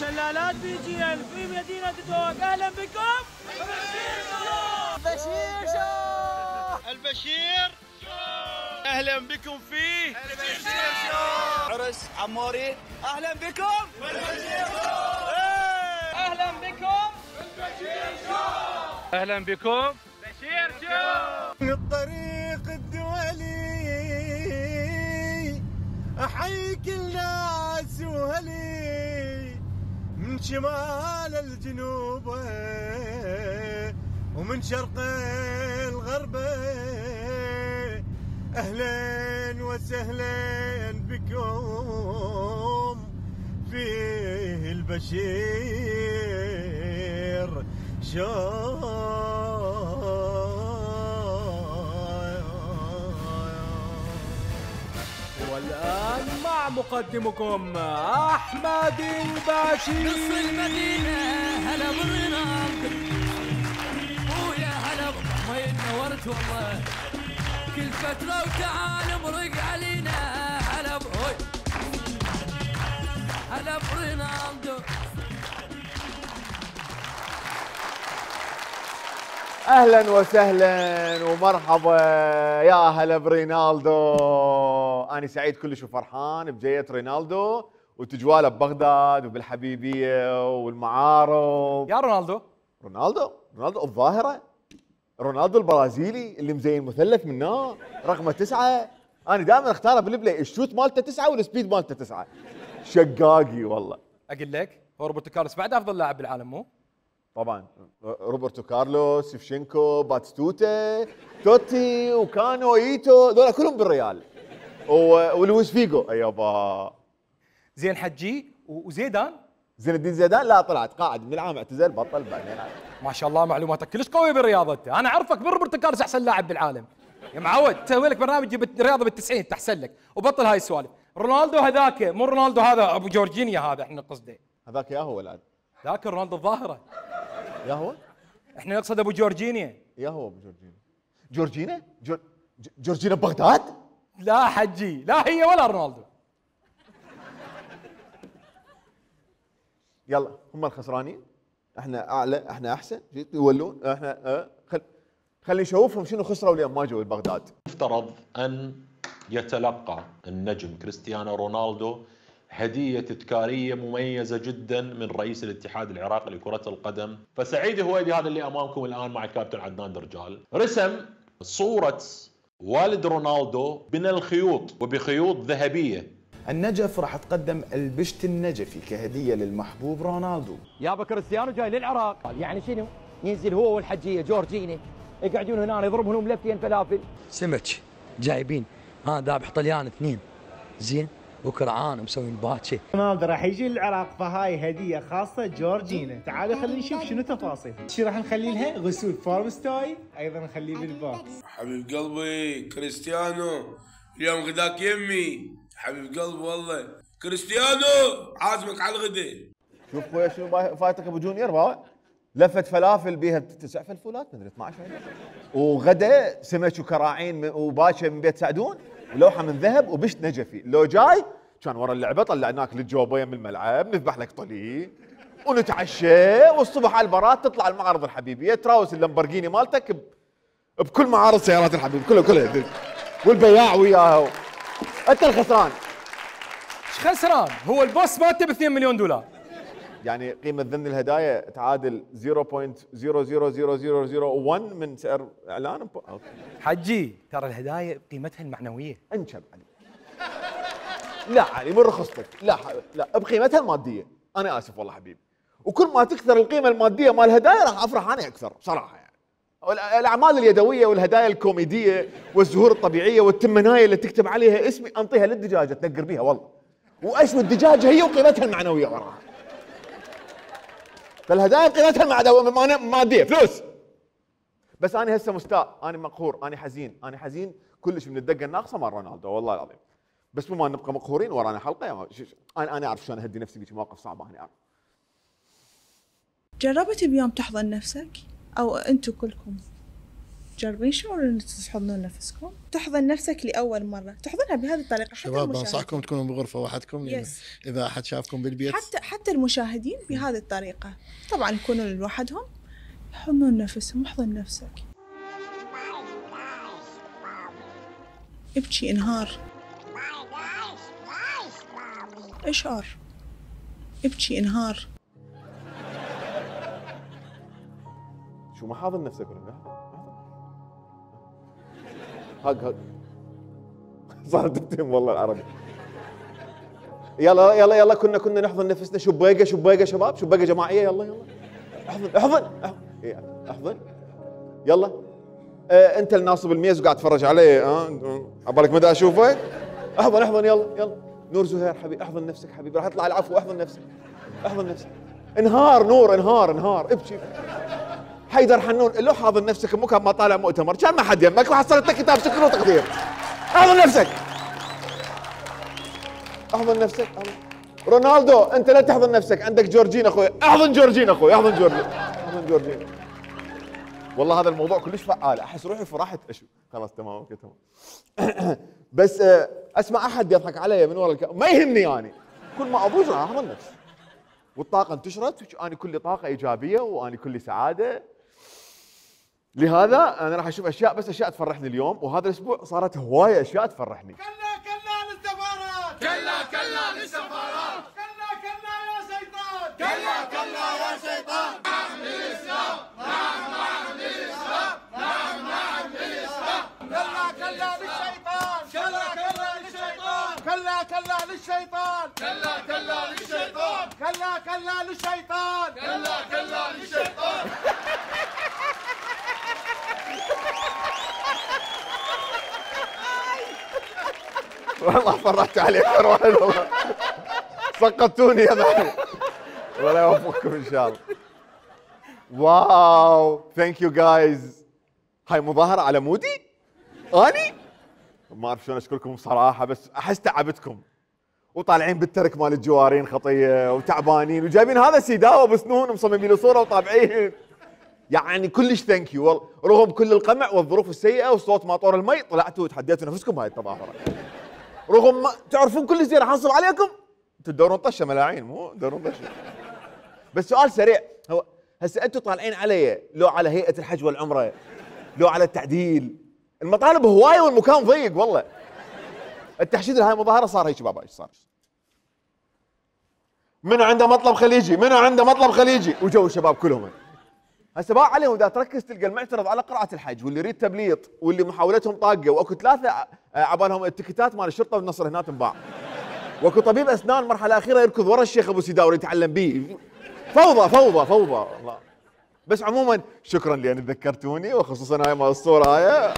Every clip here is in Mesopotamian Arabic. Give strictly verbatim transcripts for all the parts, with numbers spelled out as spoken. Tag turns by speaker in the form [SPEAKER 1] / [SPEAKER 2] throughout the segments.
[SPEAKER 1] شلالات بي جي ال في مدينة دوك، أهلا بكم. البشير شو
[SPEAKER 2] البشير شو أهلا بكم في
[SPEAKER 1] البشير شو
[SPEAKER 2] عرس عموري، أهلا بكم
[SPEAKER 1] البشير شو أهلا بكم البشير شو
[SPEAKER 3] أهلا بكم
[SPEAKER 1] بشير شو.
[SPEAKER 4] الطريق الدولي أحيي كل ناس وهلي من شمال الجنوب ومن شرق الغرب، أهلا وسهلا بكم في البشير شو.
[SPEAKER 1] والآن مع مقدمكم أحمد البشير.
[SPEAKER 5] نص المدينة هلا بالرناق ويا هلا ما نورت والله كل فترة وتعال مرق علينا هلا بهوي هلا برينالدو.
[SPEAKER 6] اهلا وسهلا ومرحبا يا هلا برينالدو. انا سعيد كلش وفرحان بجية رينالدو وتجواله ببغداد وبالحبيبيه والمعارض.
[SPEAKER 1] يا رونالدو
[SPEAKER 6] رونالدو رونالدو الظاهره، رونالدو البرازيلي اللي مزين مثلث من هنا رقمه تسعه. انا دائما اختاره بالبلاي، الشوت مالته تسعه والسبيد مالته تسعه. شقاقي والله.
[SPEAKER 1] اقول لك هو روبرتو كارلوس بعد افضل لاعب بالعالم مو؟
[SPEAKER 6] طبعا روبرتو كارلوس، شيفشينكو، باتستوتا، توتي وكانو ايتو، ذولا كلهم بالريال. ولويس فيجو ايوبا.
[SPEAKER 1] زين حجي وزيدان.
[SPEAKER 6] زين الدين زيدان لا طلعت قاعد من العام اعتزل بطل بعدين.
[SPEAKER 1] ما شاء الله معلوماتك كلش قويه بالرياضه انت، انا اعرفك من روبرتو كارلوس احسن لاعب بالعالم. يا معود تسوي لك برنامج رياضه بالتسعين تحسن لك وبطل هاي السوالف. رونالدو هذاك مو رونالدو هذا ابو جورجينيا هذا احنا قصده.
[SPEAKER 6] هذاك يا هو الان.
[SPEAKER 1] ذاك رونالدو الظاهره.
[SPEAKER 6] يا هو؟
[SPEAKER 1] احنا نقصد ابو جورجينيا.
[SPEAKER 6] يا هو ابو جورجينا. جورجينا؟ جور... جورجينا بغداد؟
[SPEAKER 1] لا حجي لا هي ولا رونالدو.
[SPEAKER 6] يلا هم الخسرانين، احنا اعلى، احنا احسن، يولون احنا اه خل... خلي نشوفهم شنو خسروا اليوم ما جو بغداد.
[SPEAKER 7] يفترض ان يتلقى النجم كريستيانو رونالدو هدية تذكارية مميزة جدا من رئيس الاتحاد العراقي لكرة القدم. فسعيد هويدي هذا اللي امامكم الان مع الكابتن عدنان درجال رسم صورة والد رونالدو من الخيوط وبخيوط ذهبية.
[SPEAKER 8] النجف راح تقدم البشت النجفي كهدية للمحبوب رونالدو.
[SPEAKER 9] يابا كريستيانو جاي للعراق، يعني شنو؟ ينزل هو والحجية جورجيني يقعدون هنا يضربون لهم لفتين فلافل.
[SPEAKER 5] سمك جايبين ها ذابح طليان اثنين زين وكرعان ومسوين باتشي.
[SPEAKER 10] رونالدو راح يجي للعراق فهاي هديه خاصه جورجينا. تعالوا خلينا نشوف شنو تفاصيل. شو راح نخلي لها؟ غسول فارم ستايل، ايضا نخليه بالبوكس.
[SPEAKER 11] حبيب قلبي كريستيانو اليوم غداك يمي. حبيب قلبي والله كريستيانو عازمك على الغداء.
[SPEAKER 6] شوف خويا شنو فايتك ابو جونيور بابا، لفت فلافل بيها تسع فلفولات مدري اثنعش وغدا سمك وكراعين وباشا من بيت سعدون ولوحه من ذهب وبشت نجفي. لو جاي كان ورا اللعبه طلعناك للجوبه يم الملعب نذبح لك طلي ونتعشى والصبح على البارات تطلع المعارض الحبيبيه تراوس اللامبرجيني مالتك بكل معارض سيارات الحبيب كلها كلها والبياع وياه. انت الخسران.
[SPEAKER 1] ايش خسران؟ هو البوس مالته ب اثنين مليون دولار.
[SPEAKER 6] يعني قيمة ذن الهدايا تعادل صفر فاصلة صفر صفر صفر صفر صفر واحد من سعر اعلان. أوكي.
[SPEAKER 1] حجي ترى الهدايا قيمتها المعنوية.
[SPEAKER 6] انشب علي. لا علي من رخصتك، لا لا بقيمتها المادية. انا اسف والله حبيبي. وكل ما تكثر القيمة المادية مال الهدايا راح افرح انا اكثر صراحة يعني. الاعمال اليدوية والهدايا الكوميدية والزهور الطبيعية والتمناية اللي تكتب عليها اسمي انطيها للدجاجة تنقر بيها والله. واشوي الدجاجة هي وقيمتها المعنوية وراها. فالهدايا قيمتها الماديه فلوس. بس انا هسه مستاء، انا مقهور، انا حزين، انا حزين كلش من الدقه الناقصه مال رونالدو والله العظيم. بس بما نبقى مقهورين ورانا حلقه انا انا اعرف شلون اهدي نفسي بهيك مواقف صعبه. انا اعرف.
[SPEAKER 12] جربت بيوم تحضن نفسك او انتم كلكم تجربين شعور ان تحضنون نفسكم، تحضن نفسك لاول مره، تحضنها بهذه الطريقه. حتى
[SPEAKER 13] شباب بنصحكم تكونوا بغرفه وحدكم، يعني اذا احد شافكم بالبيت
[SPEAKER 12] حتى حتى المشاهدين بهذه الطريقه، طبعا يكونون لوحدهم يحضنون نفسهم. احضن نفسك، ابكي انهار، اشعر، ابكي انهار.
[SPEAKER 6] شو ما حاضن نفسك ولا هاق هاق صارت تتهم والله العربي. يلا يلا يلا كنا كنا نحضن نفسنا. شبيقه شبيقه شباب، شبيقه جماعيه. يلا يلا احضن احضن احضن, احضن. يلا اه انت الناصب الميز وقاعد تتفرج علي، ها أه؟ عبالك مدى اشوفك. احضن احضن يلا يلا. نور زهير حبيبي احضن نفسك حبيبي، راح يطلع العفو. احضن نفسك احضن نفسك. انهار نور انهار انهار ابكي. حيدر حنون لو حاضن نفسك مو كان ما طالع مؤتمر كان ما حد يمك وحصلت لك كتاب شكر وتقدير. احضن نفسك احضن نفسك أحضن. رونالدو انت لا تحضن نفسك، عندك جورجين اخوي. احضن جورجين اخوي احضن جورجين احضن جورجين. والله هذا الموضوع كلش فعال، احس روحي فرحت اشو. خلاص تمام اوكي تمام. بس اسمع احد يضحك علي من ورا الك... ما يهمني يعني. كل ما ابوز راح احضن نفسي والطاقه انتشرت، انا كلي طاقه ايجابيه وانا كلي سعاده. لهذا انا راح اشوف اشياء، بس اشياء تفرحني اليوم، وهذا الاسبوع صارت هوايه اشياء تفرحني.
[SPEAKER 4] كلا كلا للسفارات، كلا كلا للسفارات، كلا كلا يا شيطان، كلا كلا يا شيطان. نعم للاسلام، نعم نعم للاسلام، نعم نعم للاسلام. كلا كلا للشيطان، كلا كلا للشيطان، كلا كلا للشيطان، كلا كلا للشيطان، كلا كلا للشيطان، كلا كلا للشيطان.
[SPEAKER 6] والله فرحت عليك واحد والله. سقطتوني يا معلم. ولا يوفقكم ان شاء الله. واو ثانك يو جايز. هاي مظاهرة على مودي؟ اني؟ ما اعرف شلون اشكركم بصراحة، بس احس تعبتكم. وطالعين بالترك مال الجوارين خطية وتعبانين وجايبين هذا سيداوة بسنون ومصممين له صورة وطابعين. يعني كلش ثانك يو والله، رغم كل القمع والظروف السيئة وصوت ماطور المي طلعتوا وتحديتوا نفسكم بهاي التظاهرة. رغم ما تعرفون كل شيء راح انصب عليكم، انتوا تدورون طشه ملاعين مو تدورون طشه. بس سؤال سريع، هو هسه انتوا طالعين علي لو على هيئه الحج والعمره، لو على التعديل، المطالب هوايه والمكان ضيق والله. التحشيد لهاي المظاهره صار هيك بابا، ايش صار؟ منو عنده مطلب خليجي؟ منو عنده مطلب خليجي؟ وجو الشباب كلهم. هسه بقى عليهم اذا تركز تلقى المعترض على قراءة الحج واللي يريد تبليط واللي محاولتهم طاقة، واكو ثلاثة عبالهم التكتات مال الشرطة والنصر هنا تنباع. واكو طبيب اسنان مرحلة أخيرة يركض ورا الشيخ ابو سيداوري يتعلم به. فوضى فوضى فوضى والله. بس عموما شكرا لان تذكرتوني، وخصوصا هاي مال الصورة هاي.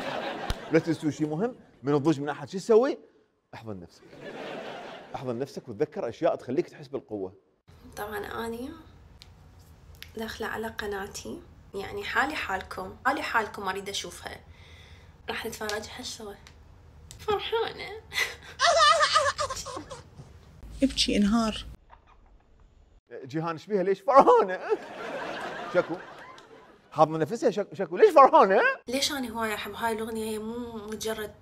[SPEAKER 6] لا تنسوا شيء مهم من الضوج من احد، شو تسوي؟ احضن نفسك. احضن نفسك وتذكر اشياء تخليك تحس بالقوة.
[SPEAKER 14] طبعا اني داخلة على قناتي، يعني حالي حالكم حالي حالكم اريد اشوفها. راح نتفرج هالسوا. فرحانة.
[SPEAKER 12] ابكي انهار.
[SPEAKER 6] جيهان ايش بيها؟ ليش فرحانة؟ شكو حاضنة نفسها. شكو شكو ليش فرحانة؟
[SPEAKER 14] ليش انا هواي احب هاي الاغنية، هي مو مجرد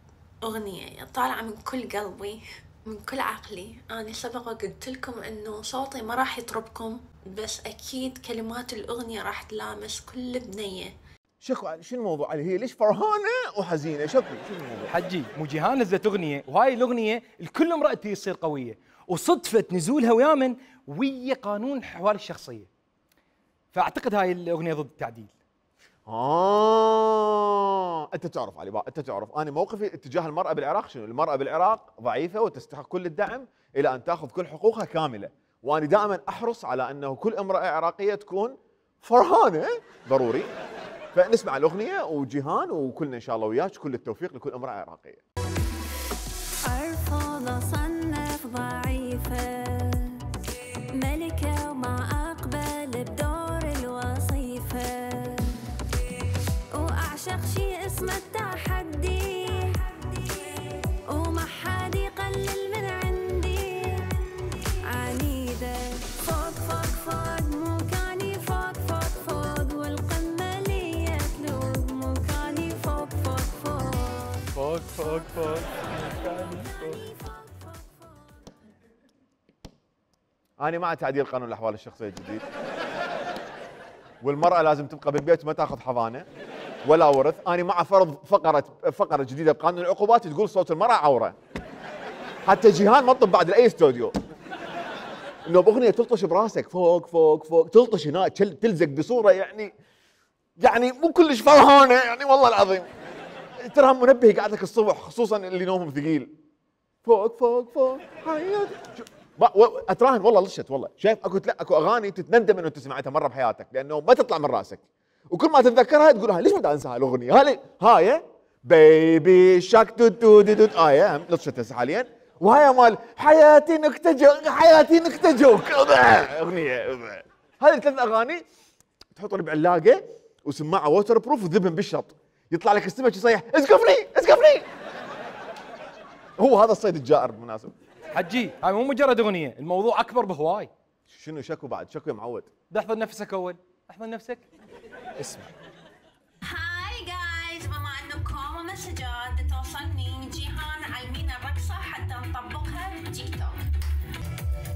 [SPEAKER 14] اغنية، طالعة من كل قلبي من كل عقلي. أنا سبق وقلت لكم إنه صوتي ما راح يطربكم، بس أكيد كلمات الأغنية راح تلامس كل بنية.
[SPEAKER 6] شكو شو الموضوع علي؟ هي ليش فرحانة وحزينة؟ شكو شو الموضوع؟
[SPEAKER 1] حجي مو جيهان نزلت أغنية، وهاي الأغنية الكل امرأة تصير قوية، وصدفة نزولها ويامن ويا قانون حوار الشخصية. فأعتقد هاي الأغنية ضد التعديل.
[SPEAKER 6] آه أنت تعرف علي بقى، أنت تعرف أنا موقفي اتجاه المرأة بالعراق شنو؟ المرأة بالعراق ضعيفة وتستحق كل الدعم إلى أن تأخذ كل حقوقها كاملة، وأنا دائما أحرص على أنه كل امرأة عراقية تكون فرحانة ضروري. فنسمع الأغنية وجيهان وكلنا إن شاء الله وياك كل التوفيق لكل امرأة عراقية.
[SPEAKER 15] أرفض أصنف ضعيفة ملكة وما أقبل بدور الوصيفة، وأعشق شي اسمه التحدي وما حد يقلل من عندي. عنيدة فوق فوق فوق مكاني، فوق فوق فوق والقمة لي تلوق مكاني فوق
[SPEAKER 3] فوق فوق فوق مكاني فوق.
[SPEAKER 6] أنا مع تعديل قانون الأحوال الشخصية الجديد، والمرأة لازم تبقى بالبيت وما تاخذ حضانة ولا ورث. أنا مع فرض فقرة فقرة جديدة بقانون العقوبات تقول صوت المرأة عورة. حتى جيهان ما تطب بعد لأي استوديو. إنه بأغنية تلطش براسك فوق فوق فوق، تلطش هنا تلزق بصورة يعني يعني مو كلش فرحانة يعني والله العظيم. ترى منبه يقعدك الصبح خصوصا اللي نومهم ثقيل. فوق فوق فوق حياتي. اتراهن والله لشت والله. شايف اكو اكو اغاني تتندم انه انت سمعتها مره بحياتك لانه ما تطلع من راسك، وكل ما تتذكرها تقول هاي ليش ما بدي انسى هالاغنيه؟ هاي هاي بيبي شاك تو تو دو اي ام لشت هسه حاليا، وهاي مال حياتي نكتة جوك حياتي نكتة جوك اغنيه. هذه ثلاث اغاني تحطهم بعلاقه وسماعه ووتر بروف وذبن بالشط، يطلع لك السمك يصيح اسقفني اسقفني. هو هذا الصيد الجائر بالمناسبه.
[SPEAKER 1] حجي هاي مو مجرد اغنيه، الموضوع اكبر بهواي.
[SPEAKER 6] شنو شكو بعد؟ شكو يا معود؟
[SPEAKER 1] احفظ نفسك اول، احفظ نفسك. اسمع.
[SPEAKER 14] هاي جايز، بما انكم مسجات توصلني جيهان علمينا الرقصه حتى نطبقها بتيك توك.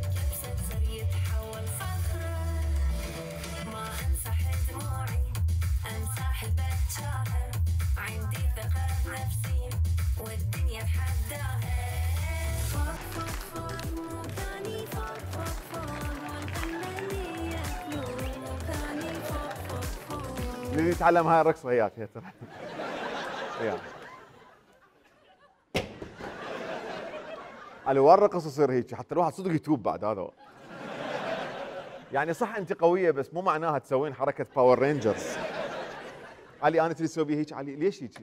[SPEAKER 14] كبسة زر يتحول صخره، ما امسح دموعي امسح البتشاهر، عندي ثقه بنفسي والدنيا اتحداها.
[SPEAKER 6] اللي يتعلم هاي الرقصه وياك هي ترى. وياك. على وين الرقص يصير هيك حتى الواحد صدق يتوب بعد هذا هو. يعني صح انت قويه بس مو معناها تسوين حركه باور رينجرز. علي انا تريد تسوي بي هيك علي ليش هيك؟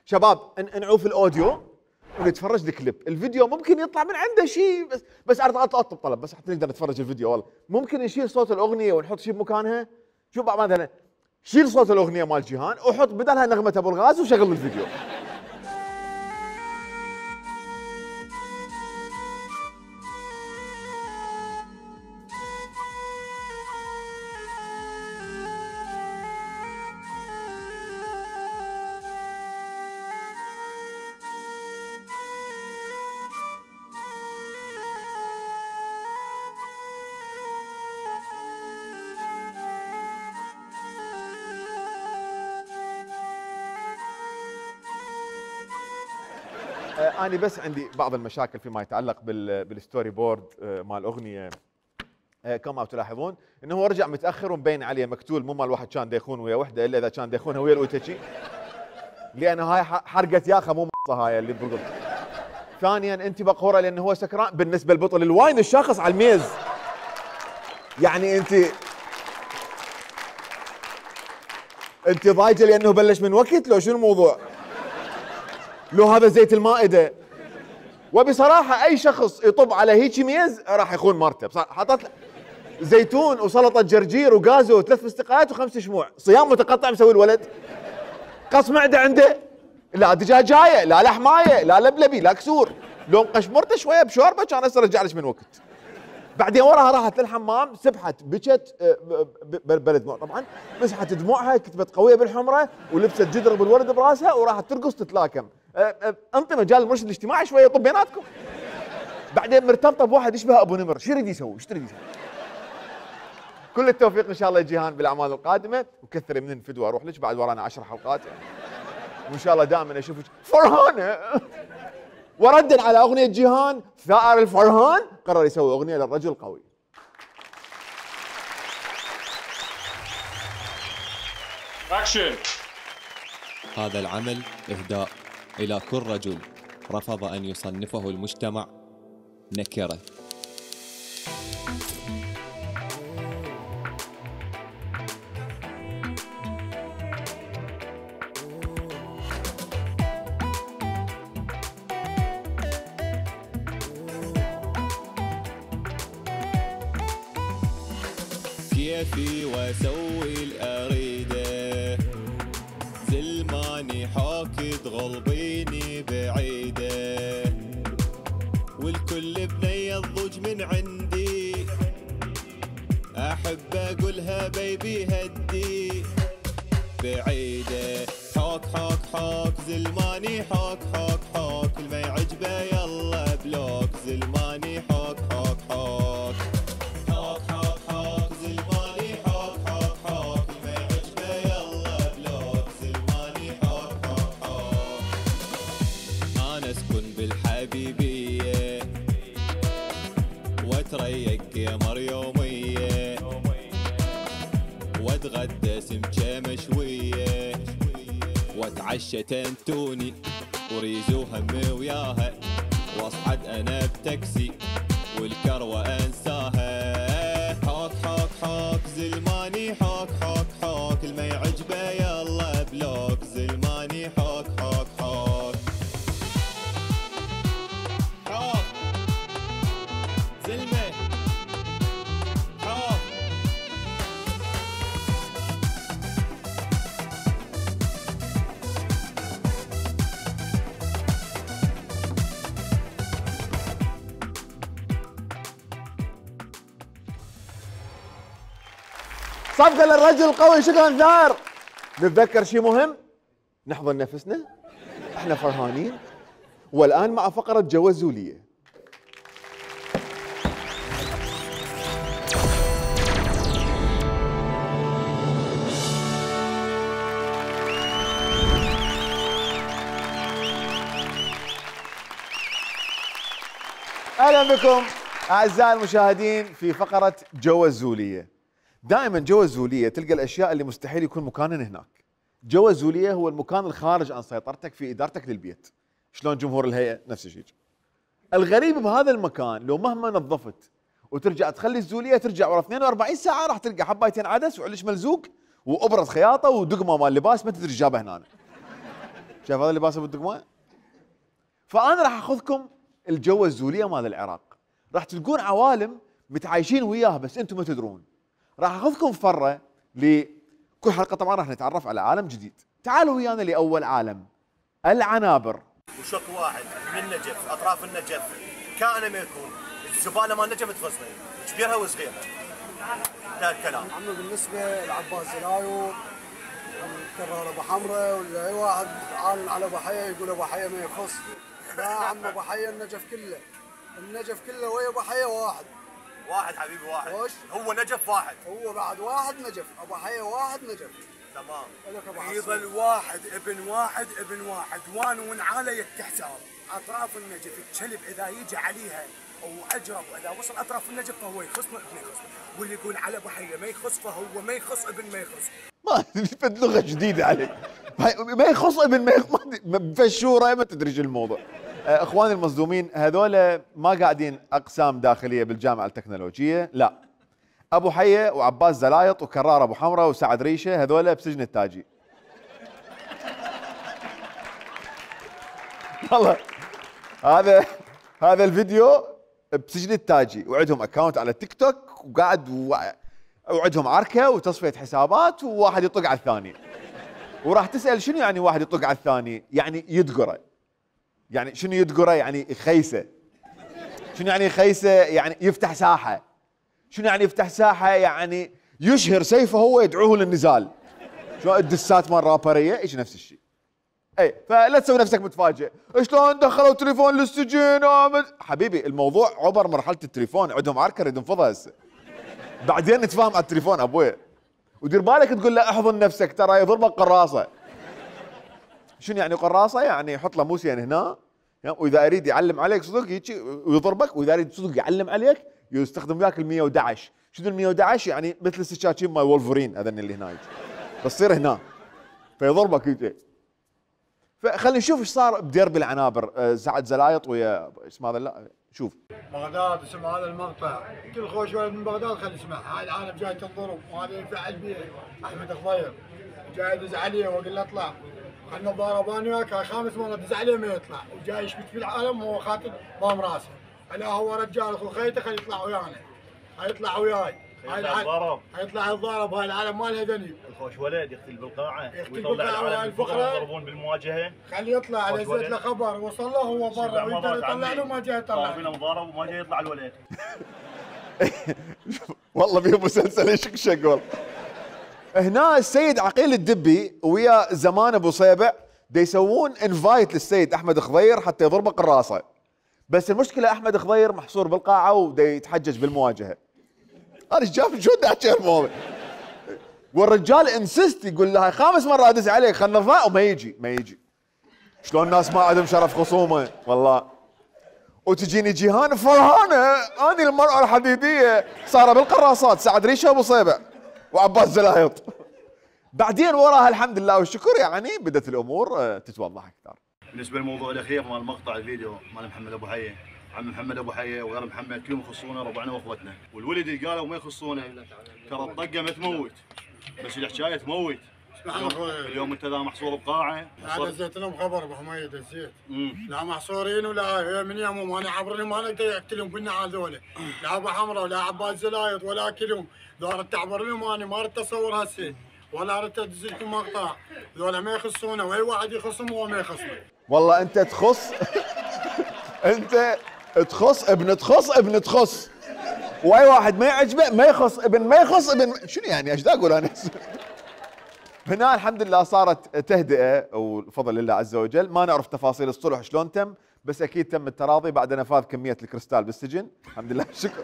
[SPEAKER 6] شباب نعوف الاوديو ونتفرج الكليب، الفيديو ممكن يطلع من عنده شيء بس بس اطلب طلب بس حتى نقدر نتفرج الفيديو. والله ممكن نشيل صوت الاغنيه ونحط شيء بمكانها. شوف بعد مثلا شيل صوت الاغنيه مال جيهان وحط بدلها نغمه ابو الغاز وشغل الفيديو. أنا بس عندي بعض المشاكل فيما يتعلق بالستوري بورد مال الأغنية. كما تلاحظون انه هو رجع متاخر ومبين عليه مكتول، مو مال واحد كان ديخون ويا وحده الا اذا كان ديخونها ويا الاوتشي، لانه هاي حرقه ياخه مو مصه هاي اللي بقول. ثانيا انت بقوره لانه هو سكران بالنسبه للبطل الواين الشاخص على الميز. يعني انت انت ضايجه لانه بلش من وقت لو شنو الموضوع؟ لو هذا زيت المائده. وبصراحه اي شخص يطب على هيك ميز راح يخون مرته، بصراحه حطت زيتون وسلطه جرجير وغازو وثلاث فستقات وخمس شموع، صيام متقطع مسوي الولد. قص معده عنده، لا دجاجايه، لا لحمايه، لا لبلبي، لا كسور، لو قشمرته شويه بشوربه كان هسه رجع لك من وقت. بعدين وراها راحت للحمام، سبحت بكت بلد دموع طبعا، مسحت دموعها، كتبت قويه بالحمره ولبست جدر بالورد براسها وراحت ترقص تتلاكم. انطي مجال المرشد الاجتماعي شويه يطب بيناتكم. بعدين مرتبطه بواحد يشبه ابو نمر، شو يريد يسوي؟ شو تريد يسوي؟ كل التوفيق ان شاء الله جيهان بالاعمال القادمه، وكثري من الفدوى اروح لك، بعد ورانا عشر حلقات وان شاء الله دائما اشوفك فرحانه. وردا على اغنيه جيهان، ثائر الفرهان قرر يسوي اغنيه للرجل القوي.
[SPEAKER 16] اكشن. هذا العمل اهداء الى كل رجل رفض ان يصنفه المجتمع نكره. كيفي واسوي الاريده، زلماني حاكد غلبيني بعيده، والكل بني الضج من عندي، احب اقولها بيبي هدي بعيده، حاك حاك حوك زلماني حوك حوك حوك الما يعجبه يلا بلوك زلماني حوك حوك حوك حوك حوك حوك زلماني حوك حوك حوك الما يعجبه يلا بلوك زلماني حوك حوك حوك. انا اسكن بالحبيبيه واتريق قمر يوميه واتغدى سمكه مشويه واتعشى تنتوني وريزو همي وياها واصعد انا بتاكسي والكروه انساها. حوك حوك حوك زلماني حوك حوك حوك الما يعجبه يلا بلوك زلماني حوك حوك حوك حوك زلمه حوك.
[SPEAKER 6] صفقة للرجل القوي. شكرا ثار. نتذكر شيء مهم، نحضن نفسنا، احنا فرحانين. والان مع فقرة جوازولية. اهلا بكم اعزائي المشاهدين في فقرة جوازولية. دائما جوازولية تلقى الاشياء اللي مستحيل يكون مكانها هناك. جوازولية هو المكان الخارج عن سيطرتك في ادارتك للبيت. شلون جمهور الهيئة نفس الشيء. الغريب بهذا المكان لو مهما نظفت وترجع تخلي الزولية ترجع ورا اثنين وأربعين ساعة راح تلقى حبايتين عدس وعلش ملزوق وابرة خياطة ودقمة مال لباس ما تدري ايش جابه هنا. شايف هذا اللباس ابو الدقمة؟ فانا راح اخذكم الجو الزولية مال العراق. راح تلقون عوالم متعايشين وياها بس انتم ما تدرون. راح اخذكم فره لكل حلقه طبعا راح نتعرف على عالم جديد. تعالوا ويانا لاول عالم، العنابر.
[SPEAKER 17] وشق واحد من النجف، اطراف النجف كائن ما يكون، الزباله مال النجف تغسلها، كبيرها وصغيرها. هذا الكلام.
[SPEAKER 18] عمي بالنسبه لعباس زلايو كرر ابو حمراء ولا اي واحد عالم على ابو حيه يقول ابو حيه ما يخص. لا عم ابو حيه النجف كله، النجف كله ويا ابو حيه واحد.
[SPEAKER 17] واحد حبيبي واحد.
[SPEAKER 18] وش؟
[SPEAKER 17] هو نجف واحد.
[SPEAKER 18] هو بعد واحد نجف، ابو حيه واحد نجف.
[SPEAKER 17] تمام.
[SPEAKER 18] يظل واحد ابن واحد ابن واحد وان ونعاله يتحساب. اطراف النجف الكلب اذا يجي عليها او اجرب اذا وصل اطراف النجف فهو يخص ابن يخص، واللي يقول على ابو حيه ما يخص فهو ما يخص ابن ما يخص.
[SPEAKER 6] ما فد لغه جديده عليك. ما يخص ابن ما يخص بفشوره ما تدري شو الموضوع. اخواني المصدومين هذول ما قاعدين اقسام داخليه بالجامعه التكنولوجيه، لا. ابو حيه وعباس زلايط وكرار ابو حمراء وسعد ريشه هذول بسجن التاجي. والله هذا هذا الفيديو بسجن التاجي وعندهم اكونت على تيك توك وقاعد وعندهم عركه وتصفيه حسابات وواحد يطق على الثاني. وراح تسال شنو يعني واحد يطق على الثاني؟ يعني يدقره. يعني شنو يدقره؟ يعني يخيسه. شنو يعني يخيسه؟ يعني يفتح ساحه. شنو يعني يفتح ساحه؟ يعني يشهر سيفه هو يدعوه للنزال. شو الدسات مال رابريه ايش نفس الشيء. اي فلا تسوي نفسك متفاجئ، شلون دخلوا تليفون للسجن؟ حبيبي الموضوع عبر مرحله التليفون، عندهم عركه نريد ننفضها هسه. بعدين نتفاهم على التليفون ابوي. ودير بالك تقول له احضن نفسك ترى يضربك قراصه. شنو يعني قراصه؟ يعني يحط له موسين هنا واذا اريد يعلم عليك صدق يجي ويضربك، واذا اريد صدق يعلم عليك يستخدم وياك ال مية وأحد عشر. شنو ال مية وأحد عشر؟ يعني مثل السكاكين مال وولفرين هذن اللي هنا بس تصير هنا فيضربك يجي. فخلينا نشوف ايش صار بديربي العنابر. سعد زلايط ويا اسمه هذا لا شوف
[SPEAKER 18] بغداد اسمع هذا المقطع، كل خوش ولد من بغداد خلي يسمع. هاي العالم جاي تنضرب وهذا ينفعل بيه احمد الخضير جاي يدز عليه واقول له اطلع خلنا نضارب انا وياك. هاي خامس مره دز عليه ما يطلع وجاي يشبك في العالم وهو خاطر ضام راسه. الا هو رجال اخو خيته خلي يطلع ويانا. هيطلع وياي هاي العالم هيطلع يتضارب. هاي العالم مالها دني.
[SPEAKER 17] الخوش ولد يقتل بالقاعه
[SPEAKER 18] يقتل بالقاعه وهاي الفقره
[SPEAKER 17] يضربون بالمواجهه.
[SPEAKER 18] خليه يطلع على زيت له خبر وصل له هو برا ويقدر يطلع له ما جاي يطلع.
[SPEAKER 17] فينا مضارب وما جاي يطلع الولد.
[SPEAKER 6] والله في مسلسل يشقشق والله. هنا السيد عقيل الدبي ويا زمان ابو صيبع دا يسوون انفايت للسيد احمد خضير حتى يضربه قراصه، بس المشكله احمد خضير محصور بالقاعه ودا يتحجج بالمواجهه. انا ايش جاب شو بدي احكي الموضوع؟ والرجال انسست يقول لها خامس مره ادز عليك خلنا نضاع وما يجي ما يجي. شلون الناس ما عندهم شرف خصومه والله. وتجيني جيهان فرهانه اني المراه الحديديه صار بالقراصات سعد ريشه ابو صيبع وعباس زلايط. بعدين وراها الحمد لله والشكر يعني بدت الامور تتوضح اكثر.
[SPEAKER 17] بالنسبه للموضوع الاخير مال مقطع الفيديو مال محمد ابو حيه، عم محمد ابو حيه وغير محمد كلهم يخصونا ربعنا واخوتنا، والولد اللي قالوا ما يخصونا ترى الطقه ما تموت بس الحكايه تموت. اليوم انت ذا محصور بقاعه.
[SPEAKER 18] هذا زيت لهم خبر ابو حميد الزيت. لا محصورين ولا من يومهم انا عبرني ما نقدر اقتلهم بالنعال ذولا. لا ابو حمراء ولا عباس زلايط ولا اكلهم، ذولا تعبر لهم انا ما اريد اتصور هسه ولا اريد ادز لكم مقطع، ذولا ما يخصونا واي واحد يخصهم هو ما يخصنا.
[SPEAKER 6] والله انت تخص انت تخص ابن تخص ابن تخص واي واحد ما يعجبه ما يخص ابن ما يخص ابن شنو يعني ايش دا اقول انا؟ هنا الحمد لله صارت تهدئه وبفضل الله عز وجل، ما نعرف تفاصيل الصلح شلون تم، بس اكيد تم التراضي بعد نفاذ كميه الكريستال بالسجن، الحمد لله الشكر.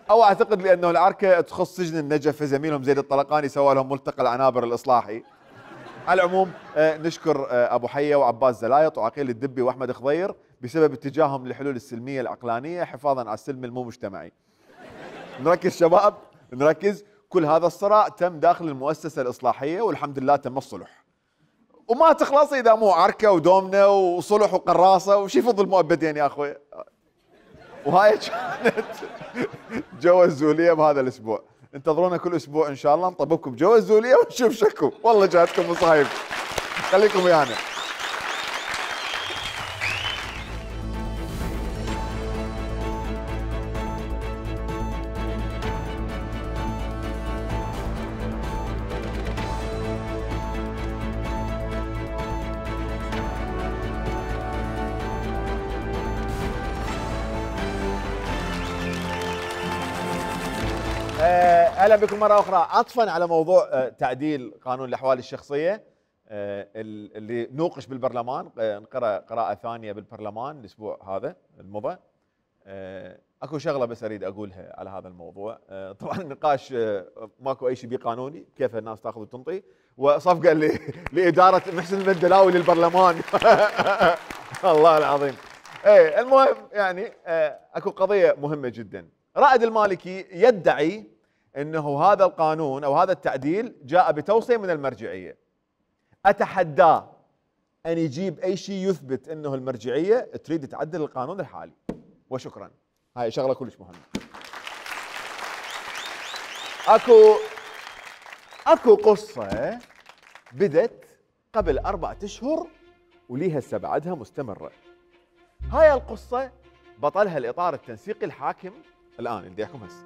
[SPEAKER 6] او اعتقد لانه العركه تخص سجن النجف، زميلهم زيد الطلقاني سوى لهم ملتقى العنابر الاصلاحي. على العموم آه نشكر آه ابو حيه وعباس زلايط وعقيل الدبي واحمد خضير بسبب اتجاههم للحلول السلميه العقلانيه حفاظا على السلم المو مجتمعي. نركز شباب نركز، كل هذا الصراع تم داخل المؤسسه الاصلاحيه والحمد لله تم الصلح. وما تخلص اذا مو عركه ودومنه وصلح وقراصه وش يفضل مؤبدين يا اخوي. وهاي كانت جو الزوليه بهذا الاسبوع، انتظرونا كل اسبوع ان شاء الله نطبقكم جو الزوليه ونشوف شكو، والله جاتكم مصايب. خليكم ويانا. اهلا بكم مره اخرى. عطفا على موضوع تعديل قانون الاحوال الشخصيه اللي نوقش بالبرلمان، نقرا قراءه ثانيه بالبرلمان الاسبوع هذا المضى. اكو شغله بس اريد اقولها على هذا الموضوع. طبعا النقاش ماكو اي شيء بيه قانوني، كيف الناس تاخذ وتنطي، وصفقه لاداره محسن المندلاوي للبرلمان. الله العظيم. ايه المهم يعني اكو قضيه مهمه جدا. رائد المالكي يدعي انه هذا القانون او هذا التعديل جاء بتوصيه من المرجعيه. اتحداه ان يجيب اي شيء يثبت انه المرجعيه تريد تعدل القانون الحالي. وشكرا. هاي شغله كلش مهمه. اكو اكو قصه بدت قبل اربعة اشهر وليها هسه بعدها مستمره. هاي القصه بطلها الاطار التنسيقي الحاكم الان اللي يحكم هسه.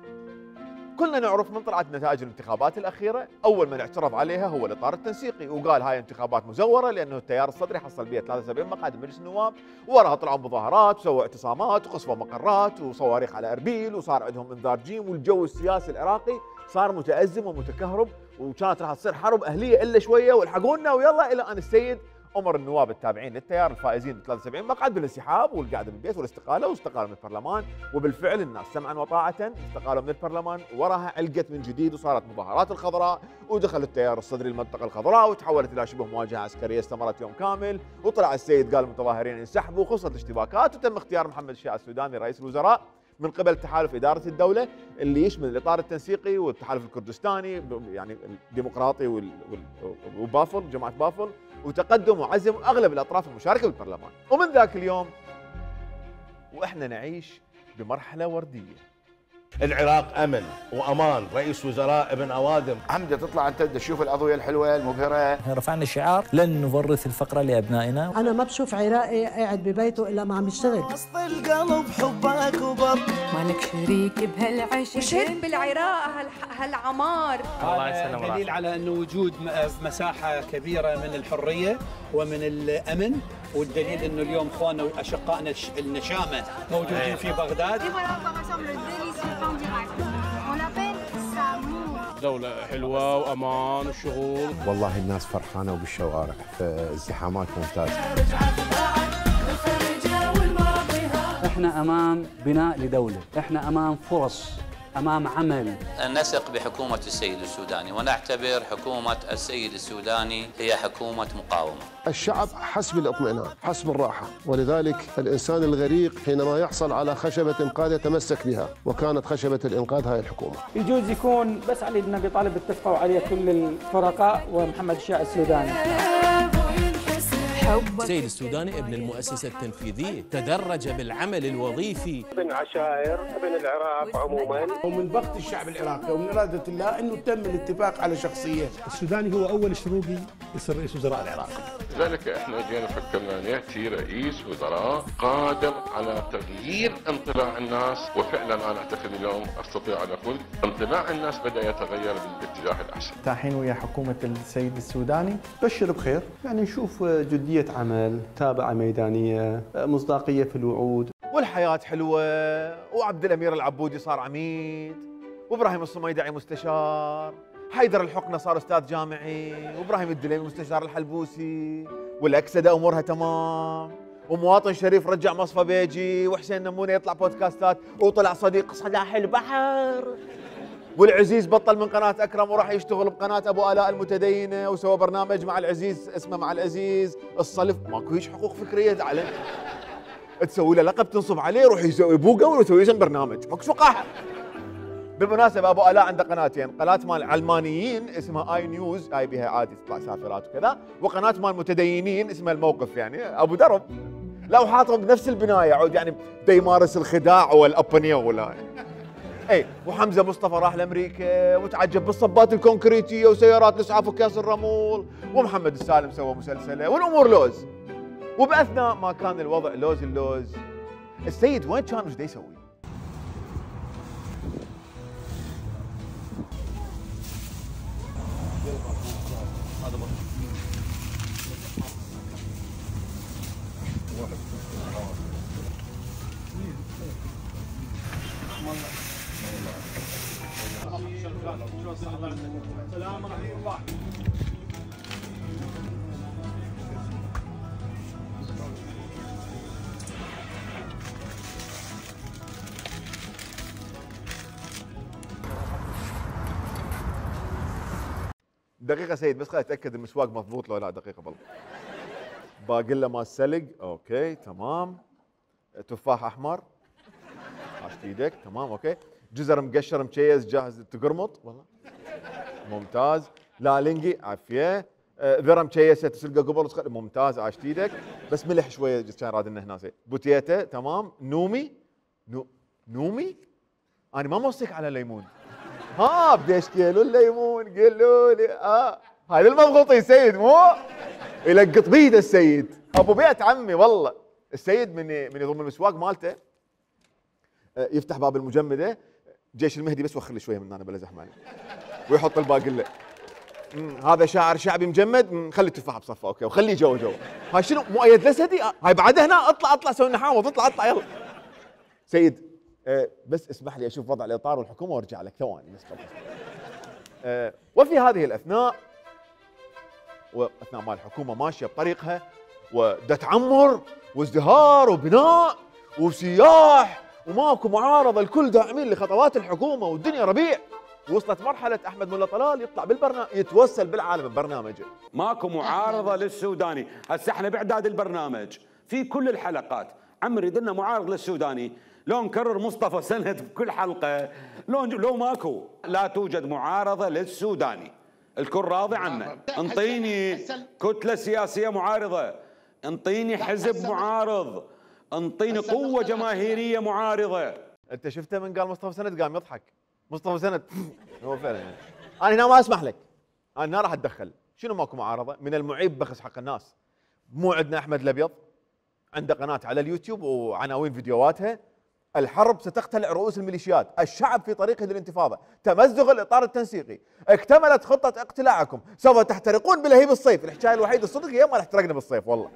[SPEAKER 6] كلنا نعرف من طلعت نتائج الانتخابات الاخيره، اول من اعترض عليها هو الاطار التنسيقي وقال هاي انتخابات مزوره لانه التيار الصدري حصل بها ثلاثة وسبعين مقعد بمجلس النواب، وراها طلعوا مظاهرات وسووا اعتصامات وقصفوا مقرات وصواريخ على اربيل وصار عندهم انذار جيم، والجو السياسي العراقي صار متازم ومتكهرب، وكانت راح تصير حرب اهليه الا شويه والحقونا ويلا، الى ان السيد امر النواب التابعين للتيار الفائزين ب ثلاثة وسبعين مقعد بالانسحاب والقعده بالبيت والاستقاله، واستقالوا من البرلمان. وبالفعل الناس سمعا وطاعه استقالوا من البرلمان، وراها علقت من جديد وصارت مظاهرات الخضراء، ودخل التيار الصدري المنطقه الخضراء وتحولت الى شبه مواجهه عسكريه استمرت يوم كامل، وطلع السيد قال المتظاهرين انسحبوا وخلصت الاشتباكات، وتم اختيار محمد الشيع السوداني رئيس الوزراء من قبل تحالف اداره الدوله اللي يشمل الاطار التنسيقي والتحالف الكردستاني يعني الديمقراطي وبافل جماعه بافل، وتقدم وعزم اغلب الاطراف المشاركه بالبرلمان. ومن ذاك اليوم واحنا نعيش بمرحله ورديه.
[SPEAKER 19] العراق امن وامان، رئيس وزراء ابن اوادم.
[SPEAKER 20] عمده تطلع انت تشوف الاضويه الحلوه المبهره.
[SPEAKER 21] رفعنا شعار لن نورث الفقر لابنائنا.
[SPEAKER 22] انا ما بشوف عراقي قاعد ببيته الا ما عم يشتغل.
[SPEAKER 15] وسط القلب حبك وبر، مالك شريك بهالعيش،
[SPEAKER 23] وشهد بالعراق هالعمار.
[SPEAKER 24] الله يسلمك. دليل على انه وجود مساحه كبيره من الحريه ومن الامن، والدليل انه اليوم اخواننا واشقائنا النشامه موجودين في بغداد.
[SPEAKER 2] دولة حلوة وأمان وشغل.
[SPEAKER 19] والله الناس فرحانة وبالشوارع، فالزحامات ممتازة.
[SPEAKER 7] احنا امام بناء لدولة، احنا امام فرص، امام عمل.
[SPEAKER 8] نثق بحكومة السيد السوداني ونعتبر حكومة السيد السوداني هي حكومة مقاومة.
[SPEAKER 9] الشعب حس بالاطمئنان، حس بالراحة، ولذلك الإنسان الغريق حينما يحصل على خشبة إنقاذ يتمسك بها، وكانت خشبة الإنقاذ هاي الحكومة.
[SPEAKER 25] يجوز يكون بس علي النبي طالب اتفقوا عليه كل الفرقاء ومحمد الشاه السوداني.
[SPEAKER 26] السيد السوداني ابن المؤسسة التنفيذية، تدرج بالعمل الوظيفي.
[SPEAKER 27] ابن عشائر، ابن العراق عموما.
[SPEAKER 28] ومن بخت الشعب العراقي ومن إرادة الله أنه تم الاتفاق على شخصية.
[SPEAKER 29] السوداني هو أول شروقي يصير رئيس وزراء العراق.
[SPEAKER 30] لذلك احنا جينا فكرنا ان ياتي رئيس وزراء قادر على تغيير انطلاع الناس، وفعلا انا اعتقد اليوم استطيع ان اقول انطلاع الناس بدا يتغير بالاتجاه الاحسن.
[SPEAKER 31] تاحين ويا حكومة السيد السوداني، بشر بخير، يعني نشوف جدية عمل، تابعة ميدانية، مصداقية في الوعود.
[SPEAKER 6] والحياة حلوة، وعبد الأمير العبودي صار عميد، وإبراهيم الصميدعي مستشار، حيدر الحقنة صار أستاذ جامعي، وإبراهيم الدليمي مستشار الحلبوسي، والأكسدة أمورها تمام، ومواطن شريف رجع مصفى بيجي، وحسين نمونة يطلع بودكاستات، وطلع صديق صلاح البحر، والعزيز بطل من قناة أكرم وراح يشتغل بقناة أبو آلاء المتدينة، وسوى برنامج مع العزيز اسمه مع العزيز الصلف. ماكو هيش حقوق فكرية تعلم، تسوي له لقب تنصب عليه، يروح يسوي بوقه ويسوي اسم برنامج، ماكو وقاحة. بالمناسبة أبو آلاء عنده قناتين، قناة مال علمانيين اسمها آي نيوز، هاي بها عادي تطلع سافرات وكذا، وقناة مال متدينين اسمها الموقف، يعني أبو درب. لا وحاطهم بنفس البناية، عود يعني بده يمارس الخداع والأبنية ولا اي. وحمزة مصطفى راح لأمريكا وتعجب بالصبات الكونكريتية وسيارات الإسعاف وكاس الرمول، ومحمد السالم سوى مسلسله، والأمور لوز. وبأثناء ما كان الوضع لوز اللوز، السيد وين كان وش دا يسوي؟
[SPEAKER 4] سلام رحيم الله.
[SPEAKER 6] دقيقة سيد، بس خليني اتأكد المسواق مضبوط لو لا. دقيقة بالله. باقلة مال سلق، اوكي تمام. تفاح احمر، عاشت ايدك، تمام اوكي. جزر مقشر مشيز جاهز تقرمط، والله ممتاز. لالنجي عافية. آه ذره مشيسة تسلقه قبل وتخلي، ممتاز عاشت ايدك. بس ملح شوية كان راد لنا هنا. بوتيتا تمام. نومي نو نومي انا ما موصيك على ليمون. ها بديش كيلو الليمون قالوا لي اه هاي للمضغوطين سيد، مو يلقط بيده السيد ابو بيت عمي. والله السيد من من يضم المسواق مالته يفتح باب المجمده، جيش المهدي بس وخر لي شويه من هنا بلا زحمه عليه، ويحط الباقله. هذا شاعر شعبي مجمد، خلي التفاحه بصفه اوكي، وخليه جو جو. هاي شنو مؤيد لسدي؟ هاي بعد هنا اطلع اطلع سوي نحاوض، اطلع اطلع يلا سيد. أه بس اسمح لي اشوف وضع الاطار والحكومه وارجع لك ثواني بس. أه وفي هذه الاثناء، واثناء ما الحكومه ماشيه بطريقها ودا تعمر وازدهار وبناء وسياح وماكو معارضه، الكل داعمين لخطوات الحكومه والدنيا ربيع، وصلت مرحله احمد ملا طلال يطلع بالبرنامج يتوسل بالعالم ببرنامجه.
[SPEAKER 32] ماكو معارضه للسوداني، هسه احنا باعداد البرنامج في كل الحلقات عم نريد لنا معارض للسوداني، لو نكرر مصطفى سند بكل حلقه، لو لو ماكو لا توجد معارضه للسوداني، الكل راضي عنه. انطيني كتله سياسيه معارضه، انطيني حزب معارض، انطيني قوه جماهيريه معارضه.
[SPEAKER 6] انت شفته من قال مصطفى سند قام يضحك. مصطفى سند هو فعلا يعني. انا هنا ما اسمح لك، انا هنا راح اتدخل. شنو ماكو معارضه؟ من المعيب بخس حق الناس. مو عندنا احمد الابيض عنده قناه على اليوتيوب وعناوين فيديوهاتها الحرب ستقتلع رؤوس الميليشيات، الشعب في طريقه للانتفاضه، تمزق الاطار التنسيقي، اكتملت خطه اقتلاعكم، سوف تحترقون بلهيب الصيف. الحكايه الوحيده الصدق هي ما احترقنا بالصيف، والله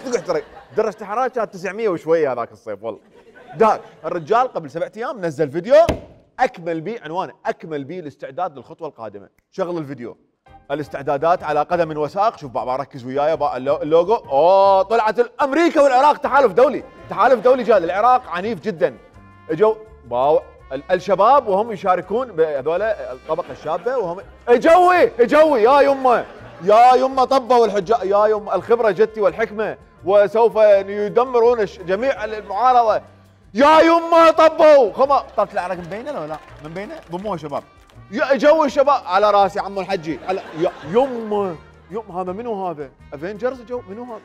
[SPEAKER 6] صدق احترق. درجه الحراره كانت تسعمية وشويه هذاك الصيف، والله داك الرجال قبل سبعة ايام نزل فيديو اكمل بي عنوانه اكمل بي الاستعداد للخطوه القادمه. شغل الفيديو. الاستعدادات على قدم وساق. شوف بابا ركز وياي اللوجو. اوه طلعت امريكا والعراق تحالف دولي، تحالف دولي جاد. العراق عنيف جدا. اجوا باو الشباب وهم يشاركون بهذول الطبقه الشابه وهم اجوي اجوي يا يمه يا يمه طبوا الحجاج يا يمه الخبره جتي والحكمه وسوف يدمرون جميع المعارضه يا يمه طبوا خما. طلعت العراق مبينه لو لا؟ من بينه ضموها شباب. يا جو الشباب على راسي عمو الحجي على يمه يم هذا منو هذا؟ افنجرز جو منو هذا؟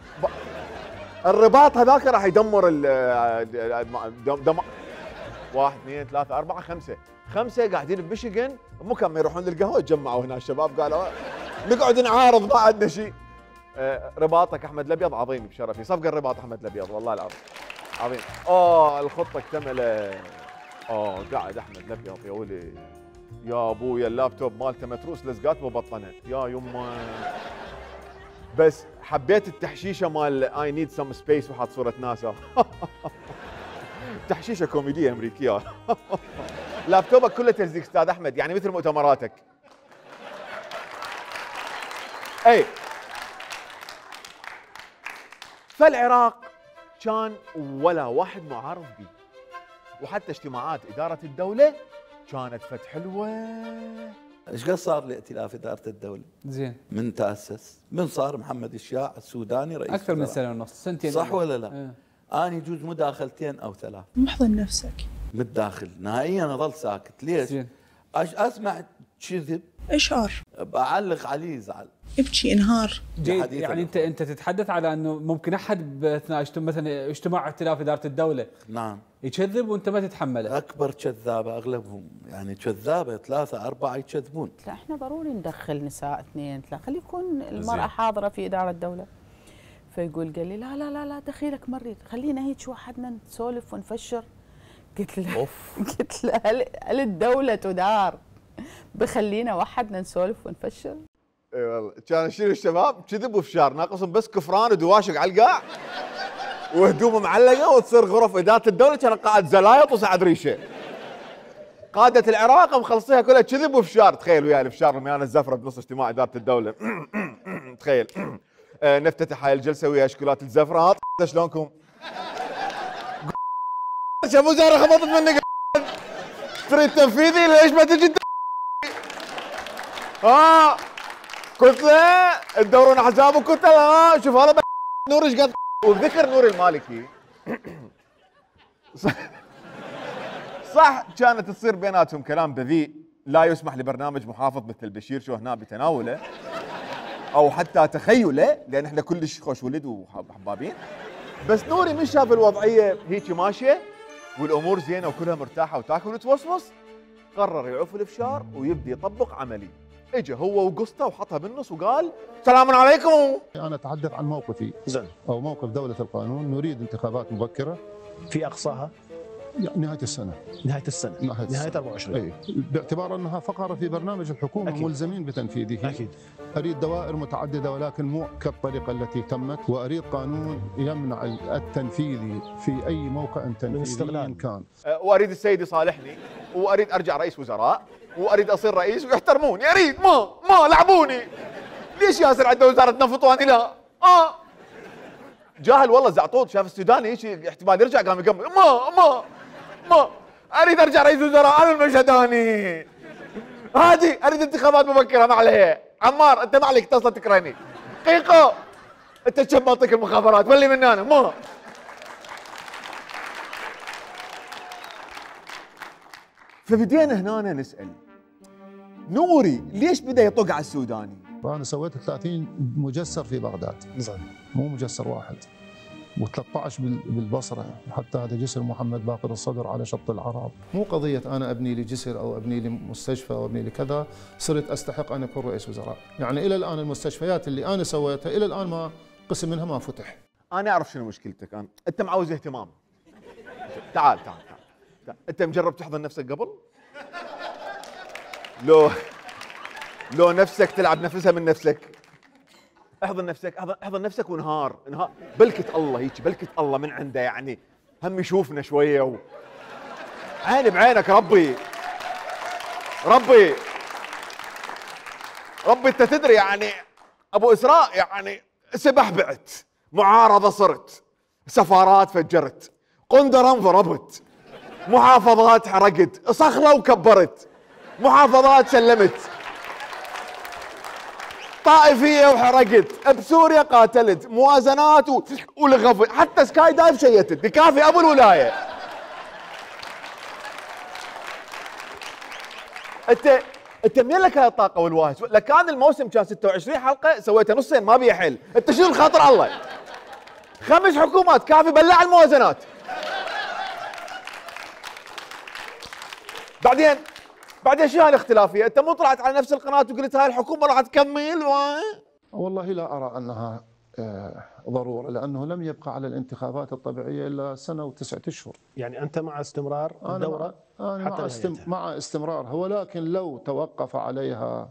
[SPEAKER 6] الرباط هذاك راح يدمر ال واحد اثنين ثلاثة أربعة خمسة، خمسة قاعدين بميشيغان مو كانوا يروحون للقهوة تجمعوا هنا الشباب قالوا نقعد نعارض ما عندنا شيء. آه رباطك أحمد الأبيض عظيم بشرفي، صفقة الرباط أحمد الأبيض والله العظيم عظيم. أوه الخطة اكتملت. أوه قاعد أحمد الأبيض يا ولي يا أبويا اللابتوب مالته متروس لزقات مبطنة يا يمه. بس حبيت التحشيشة مال اي نيد سم سبيس وحاط صورة ناسا. تحشيشه كوميديه امريكيه. لابتوبك كله تلزيق استاذ احمد يعني مثل مؤتمراتك. اي فالعراق كان ولا واحد معارض به، وحتى اجتماعات اداره الدوله كانت فت حلوه.
[SPEAKER 1] ايش قد صار لائتلاف اداره الدوله؟
[SPEAKER 7] زين
[SPEAKER 1] من تاسس، من صار محمد الشياع السوداني رئيس
[SPEAKER 7] اكثر من سنه ونص سنتين
[SPEAKER 1] صح ولا لا؟ اه. انا يجوز مداخلتين او ثلاث.
[SPEAKER 3] محضن نفسك.
[SPEAKER 1] متداخل نهائيا اظل ساكت، ليش؟
[SPEAKER 7] زين.
[SPEAKER 1] اسمع كذب
[SPEAKER 3] اشعر
[SPEAKER 1] بعلق عليه يزعل.
[SPEAKER 3] ابكي انهار.
[SPEAKER 7] يعني انت انت تتحدث على انه ممكن احد باثناء مثلا اجتماع ائتلاف اداره الدوله
[SPEAKER 1] نعم
[SPEAKER 7] يكذب وانت ما تتحمله.
[SPEAKER 1] اكبر كذابه اغلبهم يعني كذابه ثلاثه اربعه يكذبون.
[SPEAKER 3] لا احنا ضروري ندخل نساء اثنين ثلاثه، خلي يكون المراه حاضره في اداره الدوله. فيقول قال لي لا لا لا لا دخيلك مريض، خلينا هيك وحدنا نسولف ونفشر. قلت له اوف قلت له هل, هل الدوله تدار بخلينا وحدنا نسولف ونفشر؟
[SPEAKER 6] اي والله كان يشيل الشباب كذب وفشار، ناقصهم بس كفران ودواشق على القاع وهدومه معلقه وتصير غرف اداره الدوله كان قاعد زلايط وسعد ريشه. قاده العراق مخلصيها كلها كذب وفشار. تخيل وياي الفشار رميان الزفره بنص اجتماع اداره الدوله. تخيل نفتتح هاي الجلسه ويا اشكالات الزفره. شلونكم؟ شاف وزاره خبطت منك. تريد تنفيذي ليش ما تجي؟ ها قلت له تدورون احزابك. قلت له ها شوف هذا نور ايش قد. وبذكر نور المالكي صح, صح كانت تصير بيناتهم كلام بذيء لا يسمح لبرنامج محافظ مثل بشير شو هنا بتناوله او حتى تخيله، لان احنا كلش خوش ولد وحبابين. بس نوري من شاف الوضعيه هيك ماشيه والامور زينه وكلها مرتاحه وتاكل وتوصوص، قرر يعوف الفشار ويبدي يطبق عملي. اجى هو وقصته وحطها بالنص وقال السلام عليكم.
[SPEAKER 5] انا اتحدث عن موقفي زين او موقف دوله القانون. نريد انتخابات مبكره
[SPEAKER 29] في اقصاها
[SPEAKER 5] نهايه السنه.
[SPEAKER 29] نهايه السنه
[SPEAKER 5] نهايه,
[SPEAKER 29] نهاية أربعة وعشرين.
[SPEAKER 5] اي باعتبار انها فقره في برنامج الحكومه أكيد. ملزمين بتنفيذه.
[SPEAKER 29] اكيد.
[SPEAKER 5] اريد دوائر متعدده ولكن مو كالطريقه التي تمت، واريد قانون يمنع التنفيذي في اي موقع تنفيذي كان.
[SPEAKER 6] واريد السيد يصالحني، واريد ارجع رئيس وزراء، واريد اصير رئيس ويحترموني. اريد ما ما لعبوني. ليش ياسر عنده وزاره نفط واني لا؟ اه جاهل والله زعطوط. شاف السوداني هيك احتمال يرجع قام يقمل. ما ما ما اريد ارجع رئيس وزراء. انا المشهداني هادي. اريد انتخابات مبكره ما عليها. عمار انت ما عليك تصل تكرهني. قيقو انت تشب منطق المخابرات ولي من انا ما. فبدينا هنا نسال نوري ليش بدا يطق على السوداني؟
[SPEAKER 5] وانا سويت ثلاثين مجسر في بغداد.
[SPEAKER 29] زين.
[SPEAKER 5] مو مجسر واحد. و13 بالبصره، حتى هذا جسر محمد باقر الصدر على شط العرب. مو قضيه انا ابني لي جسر او ابني لي مستشفى او ابني لي كذا صرت استحق ان اكون رئيس وزراء. يعني الى الان المستشفيات اللي انا سويتها الى الان ما قسم منها ما فتح.
[SPEAKER 6] انا اعرف شنو مشكلتك. أنا. انت معوز اهتمام. تعال تعال تعال, تعال. انت مجرب تحضن نفسك قبل؟ لو لو نفسك تلعب نفسها من نفسك. احضن نفسك احضن نفسك ونهار انهار بلكة الله هيك بلكة الله من عنده يعني هم يشوفنا شويه و... عيني بعينك ربي ربي ربي انت تدري يعني ابو اسراء يعني سبح بعت، معارضه صرت، سفارات فجرت، قندرة انضربت، محافظات حرقت، صخره وكبرت، محافظات سلمت، طائفيه وحرقت، بسوريا قاتلت، موازنات و... ولغف، حتى سكاي دايف شيتت، بكافي ابو الولايه. انت انت منين لك هاي الطاقه والواهج؟ لكان الموسم كان ستة وعشرين حلقه سويته نصين ما بيها حل، انت شنو الخاطر الله؟ خمس حكومات كافي بلع الموازنات. بعدين بعدين شو هالاختلافيه؟ انت مو طلعت على نفس القناه وقلت هاي الحكومه راح تكمل و...
[SPEAKER 5] والله لا ارى انها ضروره، لانه لم يبقى على الانتخابات الطبيعيه الا سنه وتسعه اشهر.
[SPEAKER 29] يعني انت مع استمرار الدوره؟
[SPEAKER 5] أنا
[SPEAKER 29] حتى
[SPEAKER 5] مع, استم... مع استمرارها، ولكن لو توقف عليها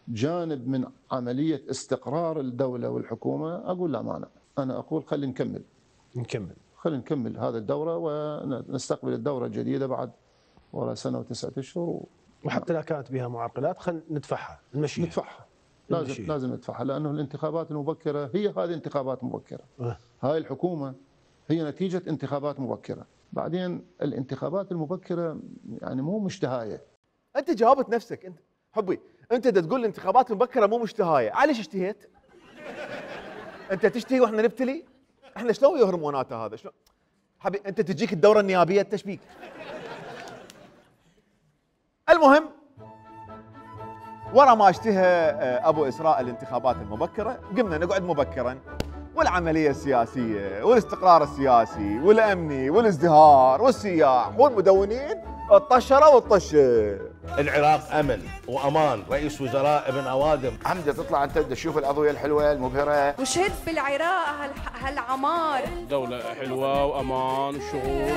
[SPEAKER 5] جانب من عمليه استقرار الدوله والحكومه اقول لا مانع، انا اقول خلي نكمل.
[SPEAKER 29] نكمل.
[SPEAKER 5] خلي نكمل هذه الدوره ونستقبل الدوره الجديده بعد وراء سنه وتسعه اشهر و...
[SPEAKER 29] وحتى لا كانت بها معرقلات خلينا ندفعها نمشيها.
[SPEAKER 5] ندفعها. لازم المشيه. لازم ندفعها، لانه الانتخابات المبكره هي هذه انتخابات مبكره. أه. هاي الحكومه هي نتيجه انتخابات مبكره، بعدين الانتخابات المبكره يعني مو مشتهايه.
[SPEAKER 6] انت جاوبت نفسك انت حبي، انت دا تقول الانتخابات المبكره مو مشتهايه، عليش اشتهيت؟ انت تشتهي واحنا نبتلي؟ احنا شلون ويا هرمونات هذا؟ شلون؟ حبي انت تجيك الدوره النيابيه التشبيك. المهم ورا ما اشتهى ابو اسراء الانتخابات المبكره قمنا نقعد مبكرا، والعمليه السياسيه والاستقرار السياسي والامني والازدهار والسياح والمدونين الطشره والطشه.
[SPEAKER 19] العراق امن وامان، رئيس وزراء ابن اوادم.
[SPEAKER 10] حمزه تطلع انت تشوف الاضويه الحلوه المبهره.
[SPEAKER 23] وشهد في العراق هال- هالعمار.
[SPEAKER 2] دولة حلوة وامان وشغل.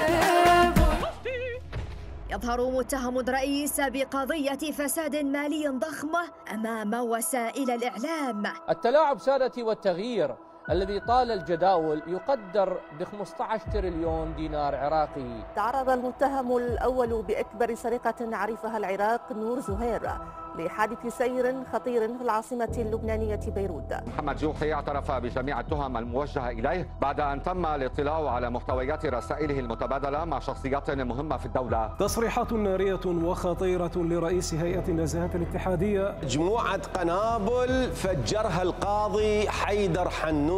[SPEAKER 11] يظهر متهم رئيس بقضية فساد مالي ضخمة أمام وسائل الإعلام.
[SPEAKER 12] التلاعب سادتي والتغيير الذي طال الجداول يقدر ب خمسة عشر تريليون دينار عراقي.
[SPEAKER 13] تعرض المتهم الأول بأكبر سرقة عرفها العراق نور زهير لحادث سير خطير في العاصمة اللبنانية بيروت.
[SPEAKER 14] محمد جوحي اعترف بجميع التهم الموجهة إليه بعد أن تم الاطلاع على محتويات رسائله المتبادلة مع شخصيات مهمة في الدولة.
[SPEAKER 15] تصريحات نارية وخطيرة لرئيس هيئة النزاهة الاتحادية.
[SPEAKER 16] مجموعة قنابل فجرها القاضي حيدر حنون.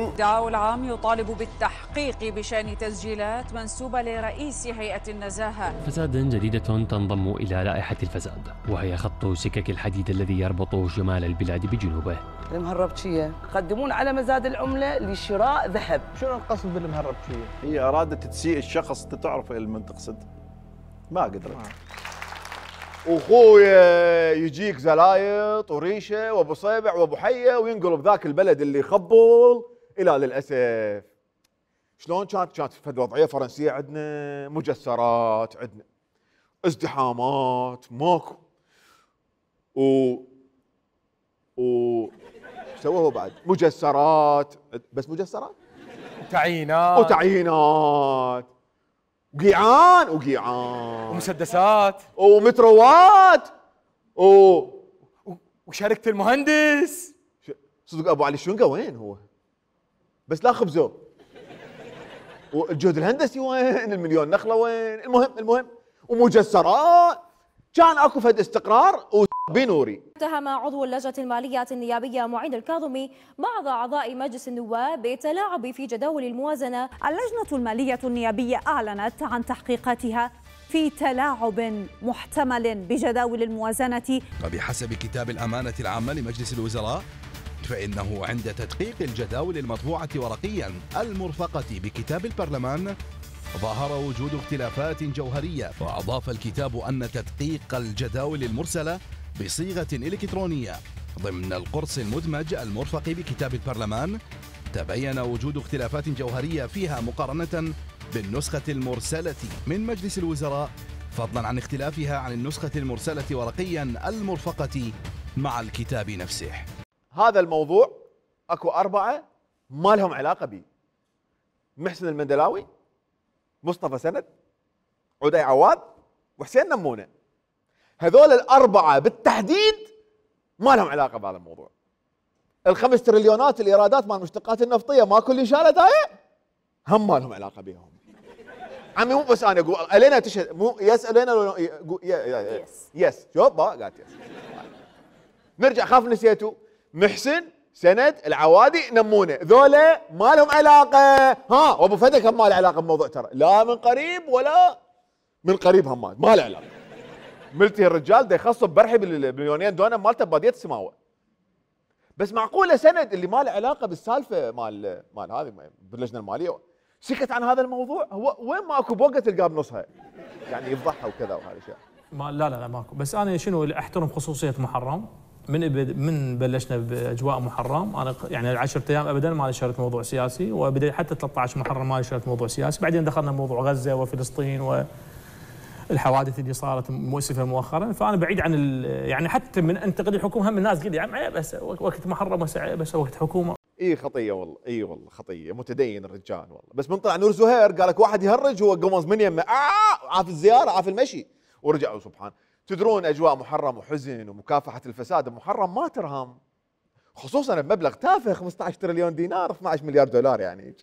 [SPEAKER 17] الدعاء العام يطالب بالتحقيق بشأن تسجيلات منسوبة لرئيس هيئة النزاهة.
[SPEAKER 18] فساد جديدة تنضم إلى لائحة الفساد، وهي خط سكك الحديد الذي يربط شمال البلاد بجنوبه.
[SPEAKER 20] المهربشية يقدمون على مزاد العملة لشراء ذهب.
[SPEAKER 31] شنو القصد بالمهربشية؟
[SPEAKER 21] هي أرادت تسيء الشخص، تعرف من تقصد، ما قدرت.
[SPEAKER 6] اخويا يجيك زلايط وريشه وابو صيبع وابو حيه وينقلب ذاك البلد اللي يخبل الى للاسف. شلون كانت كانت في وضعيه فرنسيه، عندنا مجسرات، عندنا ازدحامات ماكو و و سووه بعد مجسرات، بس مجسرات
[SPEAKER 22] وتعيينات
[SPEAKER 6] وتعيينات وقيعان وقيعان
[SPEAKER 22] ومسدسات
[SPEAKER 6] ومتروات و
[SPEAKER 22] وشركة المهندس.
[SPEAKER 6] صدق ابو علي الشنقه وين هو؟ بس لا خبزه. والجهد الهندسي وين؟ المليون نخله وين؟ المهم المهم ومجسرات. كان اكو فد استقرار وبنوري.
[SPEAKER 33] اتهم عضو اللجنة المالية النيابية معين الكاظمي بعض أعضاء مجلس النواب بالتلاعب في جداول الموازنة.
[SPEAKER 34] اللجنة المالية النيابية أعلنت عن تحقيقاتها في تلاعب محتمل بجداول الموازنة.
[SPEAKER 35] وبحسب كتاب الأمانة العامة لمجلس الوزراء فإنه عند تدقيق الجداول المطبوعة ورقيا المرفقة بكتاب البرلمان ظهر وجود اختلافات جوهرية، وأضاف الكتاب أن تدقيق الجداول المرسلة بصيغة إلكترونية ضمن القرص المدمج المرفق بكتاب البرلمان تبين وجود اختلافات جوهرية فيها مقارنة بالنسخة المرسلة من مجلس الوزراء، فضلا عن اختلافها عن النسخة المرسلة ورقيا المرفقة مع الكتاب نفسه.
[SPEAKER 6] هذا الموضوع اكو أربعة ما لهم علاقة بي: محسن المندلاوي، مصطفى سند، عدي عواد، وحسين نمونة. هذول الاربعه بالتحديد ما لهم علاقه بهذا الموضوع. الخمس تريليونات الايرادات مال المشتقات النفطيه ماكو اللي شالت هاي هم ما لهم علاقه بهم. عمي مو بس انا اقول الينا تشهد مو يس الينا لو يس يس شوف ما قالت يس. نرجع خاف نسيتوا محسن سند العوادي نمونه ذولا ما لهم علاقه. ها وابو فدك هم ما له علاقه بموضوع ترى لا من قريب ولا من قريب هم ما له علاقه. ملتي الرجال ده يخصب برحي بالمليونين دونم مالته بباديه السماوه. بس معقوله سند اللي ما له علاقه بالسالفه مال مال هذه باللجنه الماليه سكت عن هذا الموضوع؟ هو وين ما اكو بوقه تلقاه بنصها يعني يفضحها وكذا وهذا الشيء.
[SPEAKER 1] ما لا لا لا ماكو. بس انا شنو اللي احترم خصوصيه محرم من من بلشنا باجواء محرم. انا يعني العشرة ايام ابدا ما نشرت موضوع سياسي وبدأ حتى ثلاثة عشر محرم ما نشرت موضوع سياسي. بعدين دخلنا موضوع غزه وفلسطين والحوادث اللي صارت مؤسفه مؤخرا. فانا بعيد عن يعني حتى من انتقد الحكومه هم الناس قال يعني بس وقت محرم بس وقت حكومه.
[SPEAKER 6] اي خطيه والله اي والله خطيه متدين الرجال والله. بس من طلع نور زهير قال لك واحد يهرج هو قمص من يمه آه عاف الزياره عاف المشي ورجعوا سبحان. تدرون اجواء محرم وحزن ومكافحه الفساد محرم ما ترهم خصوصا بمبلغ تافه خمسة عشر تريليون دينار اثني عشر مليار دولار يعني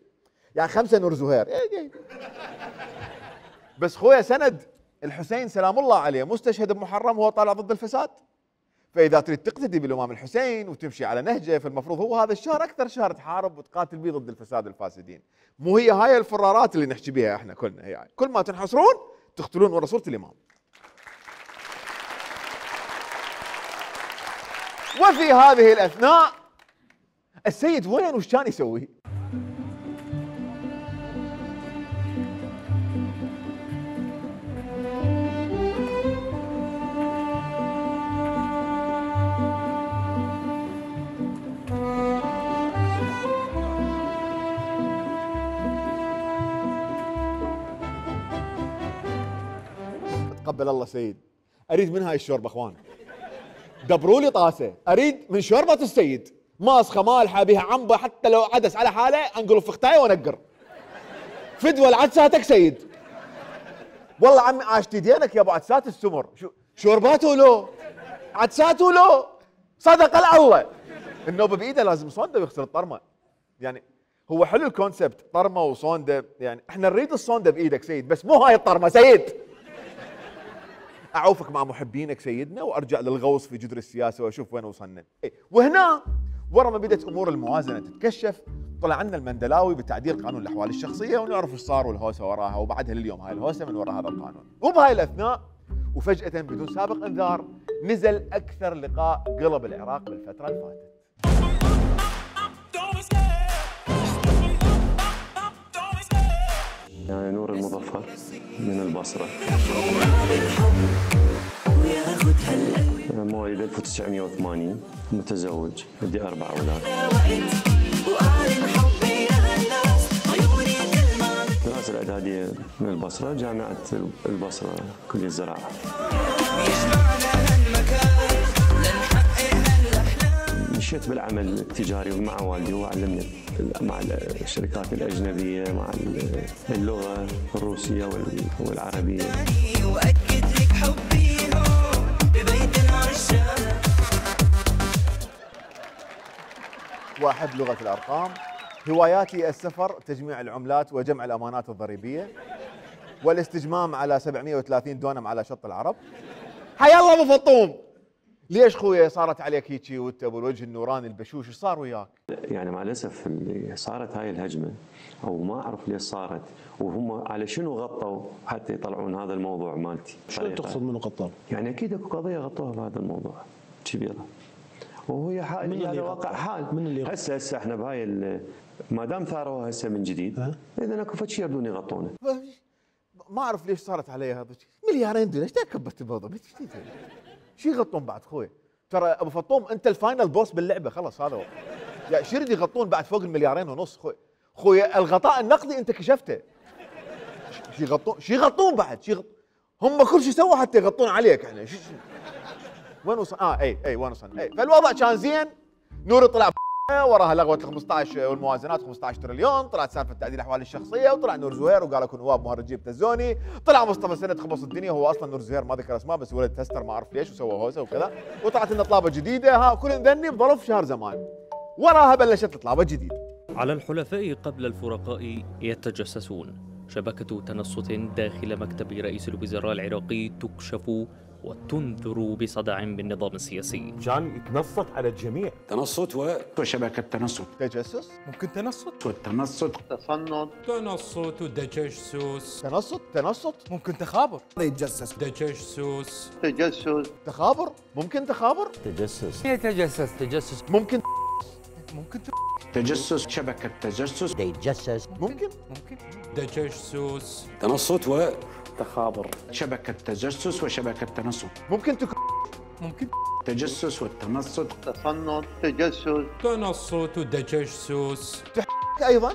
[SPEAKER 6] يعني خمسه نور زهير. بس خويا سند الحسين سلام الله عليه مستشهد بمحرم وهو طالع ضد الفساد. فاذا تريد تقتدي بالامام الحسين وتمشي على نهجه فالمفروض هو هذا الشهر اكثر شهر تحارب وتقاتل به ضد الفساد والفاسدين. مو هي هاي الفرارات اللي نحكي بها احنا كلنا هي يعني. كل ما تنحصرون تقتلون ورا صورة الامام. وفي هذه الاثناء السيد وين وش كان يسوي؟ تقبل الله سيد اريد من هاي الشوربه اخوان دبروا لي طاسه اريد من شوربه السيد ماسخه مالحه بها عنبه حتى لو عدس على حاله انقل فختايه وانقر فدوى العدساتك سيد والله عمي عاشتي دينك يا ابو عدسات السمر شو شورباته لو عدساته لو صدق الله النوبه بايده لازم صونده ويغسل الطرمه يعني هو حلو الكونسبت طرمه وصونده يعني احنا نريد الصونده بايدك سيد بس مو هاي الطرمه سيد. اعوفك مع محبينك سيدنا وارجع للغوص في جدر السياسه واشوف وين وصلنا. إيه؟ وهنا ورا ما بدات امور الموازنه تتكشف طلع عنا المندلاوي بتعديل قانون الاحوال الشخصيه ونعرف ايش صار والهوسه وراها وبعدها لليوم هاي الهوسه من وراء هذا القانون. وبهاي الاثناء وفجاه بدون سابق انذار نزل اكثر لقاء قلب العراق بالفتره اللي فاتت.
[SPEAKER 3] يعني نور المظفر من البصرة مواليد ألف وتسعمئة وثمانين متزوج عندي أربع أولاد. دراسة الإعدادية من البصرة جامعة البصرة كلية الزراعة. مشيت بالعمل التجاري مع والدي هو علمني مع الشركات الأجنبية مع اللغة الروسية والعربية.
[SPEAKER 6] وأحب لغة الأرقام. هواياتي السفر تجميع العملات وجمع الأمانات الضريبية والاستجمام على سبعمئة وثلاثين دونم على شط العرب. حيا الله ابو فطوم ليش خويا صارت عليك هيجي وانت ابو الوجه النوراني البشوش ايش صار وياك؟
[SPEAKER 3] يعني مع الاسف اللي صارت هاي الهجمه او ما اعرف ليش صارت وهم على شنو غطوا حتى يطلعون هذا الموضوع مالتي.
[SPEAKER 19] شو تقصد منه غطوا؟
[SPEAKER 3] يعني اكيد اكو قضيه غطوها بهذا الموضوع كبيره وهي حال يعني واقع حال. من اللي هسه هسه احنا بهاي ما دام ثاروها هسه من جديد اذا اكو فد شيء يبدون يغطونه.
[SPEAKER 6] ما اعرف ليش صارت علي هذا مليارين دولار ايش كبرت الموضوع؟ شو يغطون بعد خوي؟ ترى ابو فطوم انت الفاينل بوس باللعبه خلاص هذا هو. يعني شو يريد يغطون بعد فوق المليارين ونص خوي؟ خوي الغطاء النقدي انت كشفته. شو يغطون؟ شو يغطون بعد؟ شو يغطون؟ هم كل شيء سووا حتى يغطون عليك يعني شو وين وصل؟ اه اي اي وين وصلنا؟ اي فالوضع كان زين نور طلع وراها لغوه ال خمسطعش والموازنات خمسطعش تريليون، طلعت سالفه تعديل الاحوال الشخصيه، وطلع نور زهير وقال اكو نواب مهرجين بتزوني، طلع مصطفى سند خبص الدنيا، هو اصلا نور زهير ما ذكر اسماء بس ولد تستر ما اعرف ليش وسوى هوسه وكذا، وطلعت لنا طلابه جديده، ها كل ذني بظرف شهر زمان. وراها بلشت طلابه جديده.
[SPEAKER 4] على الحلفاء قبل الفرقاء يتجسسون. شبكة تنصت داخل مكتب رئيس الوزراء العراقي تكشف وتنذر بصدع بالنظام السياسي.
[SPEAKER 5] كان يتنصت على الجميع.
[SPEAKER 7] تنصت و... وشبكة تنصت.
[SPEAKER 6] تجسس؟
[SPEAKER 22] ممكن تنصت.
[SPEAKER 7] والتنصت. تصنت.
[SPEAKER 22] تنصت وتجسس.
[SPEAKER 6] تنصت تنصت.
[SPEAKER 22] ممكن تخابر.
[SPEAKER 7] يتجسس.
[SPEAKER 22] تجسس.
[SPEAKER 7] تجسس.
[SPEAKER 6] تخابر. ممكن تخابر.
[SPEAKER 5] تجسس.
[SPEAKER 22] يتجسس تجسس.
[SPEAKER 6] ممكن
[SPEAKER 22] ممكن
[SPEAKER 7] تجسس. شبكة تجسس.
[SPEAKER 5] يتجسس.
[SPEAKER 6] ممكن
[SPEAKER 22] ممكن تجسس.
[SPEAKER 7] تنصت و
[SPEAKER 5] تخابر.
[SPEAKER 7] شبكة تجسس وشبكة تنصت.
[SPEAKER 6] ممكن تك...
[SPEAKER 22] ممكن
[SPEAKER 7] تجسس والتنصت. تصنت. تجسس.
[SPEAKER 22] تنصت وتجسس.
[SPEAKER 6] تحك ايضا.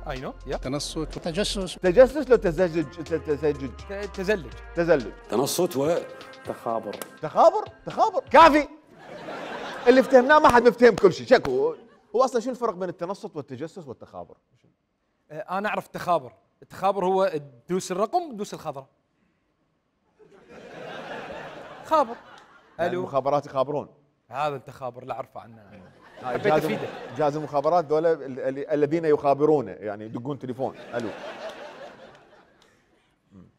[SPEAKER 22] اي نو يا
[SPEAKER 7] تنصت وتجسس.
[SPEAKER 6] تجسس لو تزجج تزجج
[SPEAKER 22] تزلج
[SPEAKER 6] تزلج.
[SPEAKER 7] تنصت و
[SPEAKER 5] تخابر.
[SPEAKER 6] تخابر تخابر كافي. اللي افتهمناه ما حد مفتهم كل شيء. شكو هو اصلا شو الفرق بين التنصت والتجسس والتخابر؟
[SPEAKER 22] انا اعرف التخابر، التخابر هو تدوس الرقم تدوس الخضراء. خابر.
[SPEAKER 6] يعني المخابرات يخابرون.
[SPEAKER 22] هذا التخابر لا اعرفه عنه.
[SPEAKER 6] حبيت افيدك. جهاز المخابرات دول الذين يخابرون يعني يدقون تليفون. الو.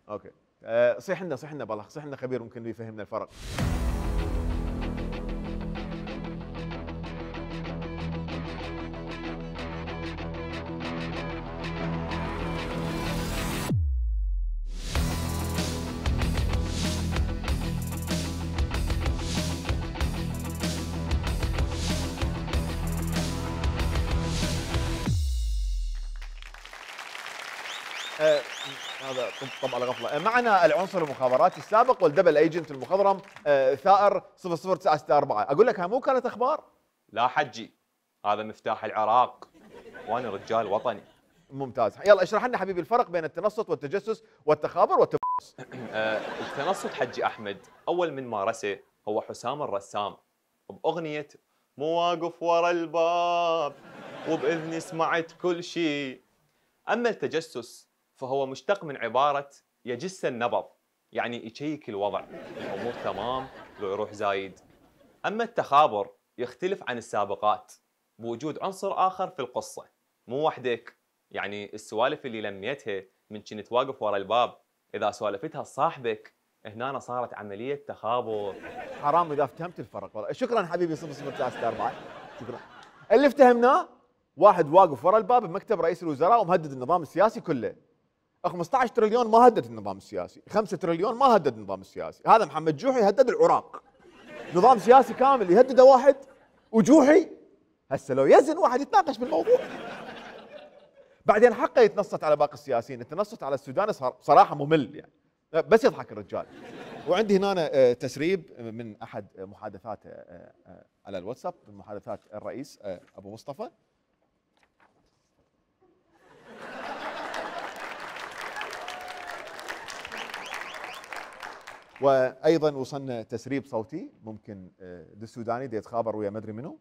[SPEAKER 6] اوكي. أه صيح لنا صيح لنا بالله صيح لنا خبير ممكن يفهمنا الفرق. آه هذا طب على غفله. معنا العنصر المخابراتي السابق والدبل ايجنت المخضرم آه ثائر صفر صفر تسعة ستة أربعة. اقول لك ها مو كانت اخبار؟
[SPEAKER 8] لا حجي، هذا مفتاح العراق وانا رجال وطني.
[SPEAKER 6] ممتاز. يلا اشرح لنا حبيبي الفرق بين التنصت والتجسس والتخابر والتبص.
[SPEAKER 8] آه التنصت حجي احمد اول من مارسه هو حسام الرسام باغنيه مو واقف ورا الباب وباذني سمعت كل شيء. اما التجسس فهو مشتق من عبارة يجس النبض، يعني يشيك الوضع، الأمور تمام لو يروح زايد. أما التخابر يختلف عن السابقات بوجود عنصر آخر في القصة، مو وحدك، يعني السوالف اللي لميتها من كنت واقف ورا الباب إذا سوالفتها صاحبك هنا صارت عملية تخابر.
[SPEAKER 6] حرام إذا افتهمت الفرق والله. شكرا حبيبي صفر صفر تسعة ستة أربعة. شكرا. اللي افتهمناه واحد واقف ورا الباب بمكتب رئيس الوزراء ومهدد النظام السياسي كله. خمسطعش تريليون ما هدد النظام السياسي، خمسة تريليون ما هدد النظام السياسي، هذا محمد جوحي هدد العراق. نظام سياسي كامل يهدده واحد وجوحي هسه لو يزن واحد يتناقش بالموضوع. بعدين حقه يتنصت على باقي السياسيين، التنصت على السوداني صراحه ممل يعني، بس يضحك الرجال. وعندي هنا تسريب من احد محادثاته على الواتساب من محادثات الرئيس ابو مصطفى. وايضا وصلنا تسريب صوتي ممكن دي السوداني دي يتخابر ويا ما ادري منو.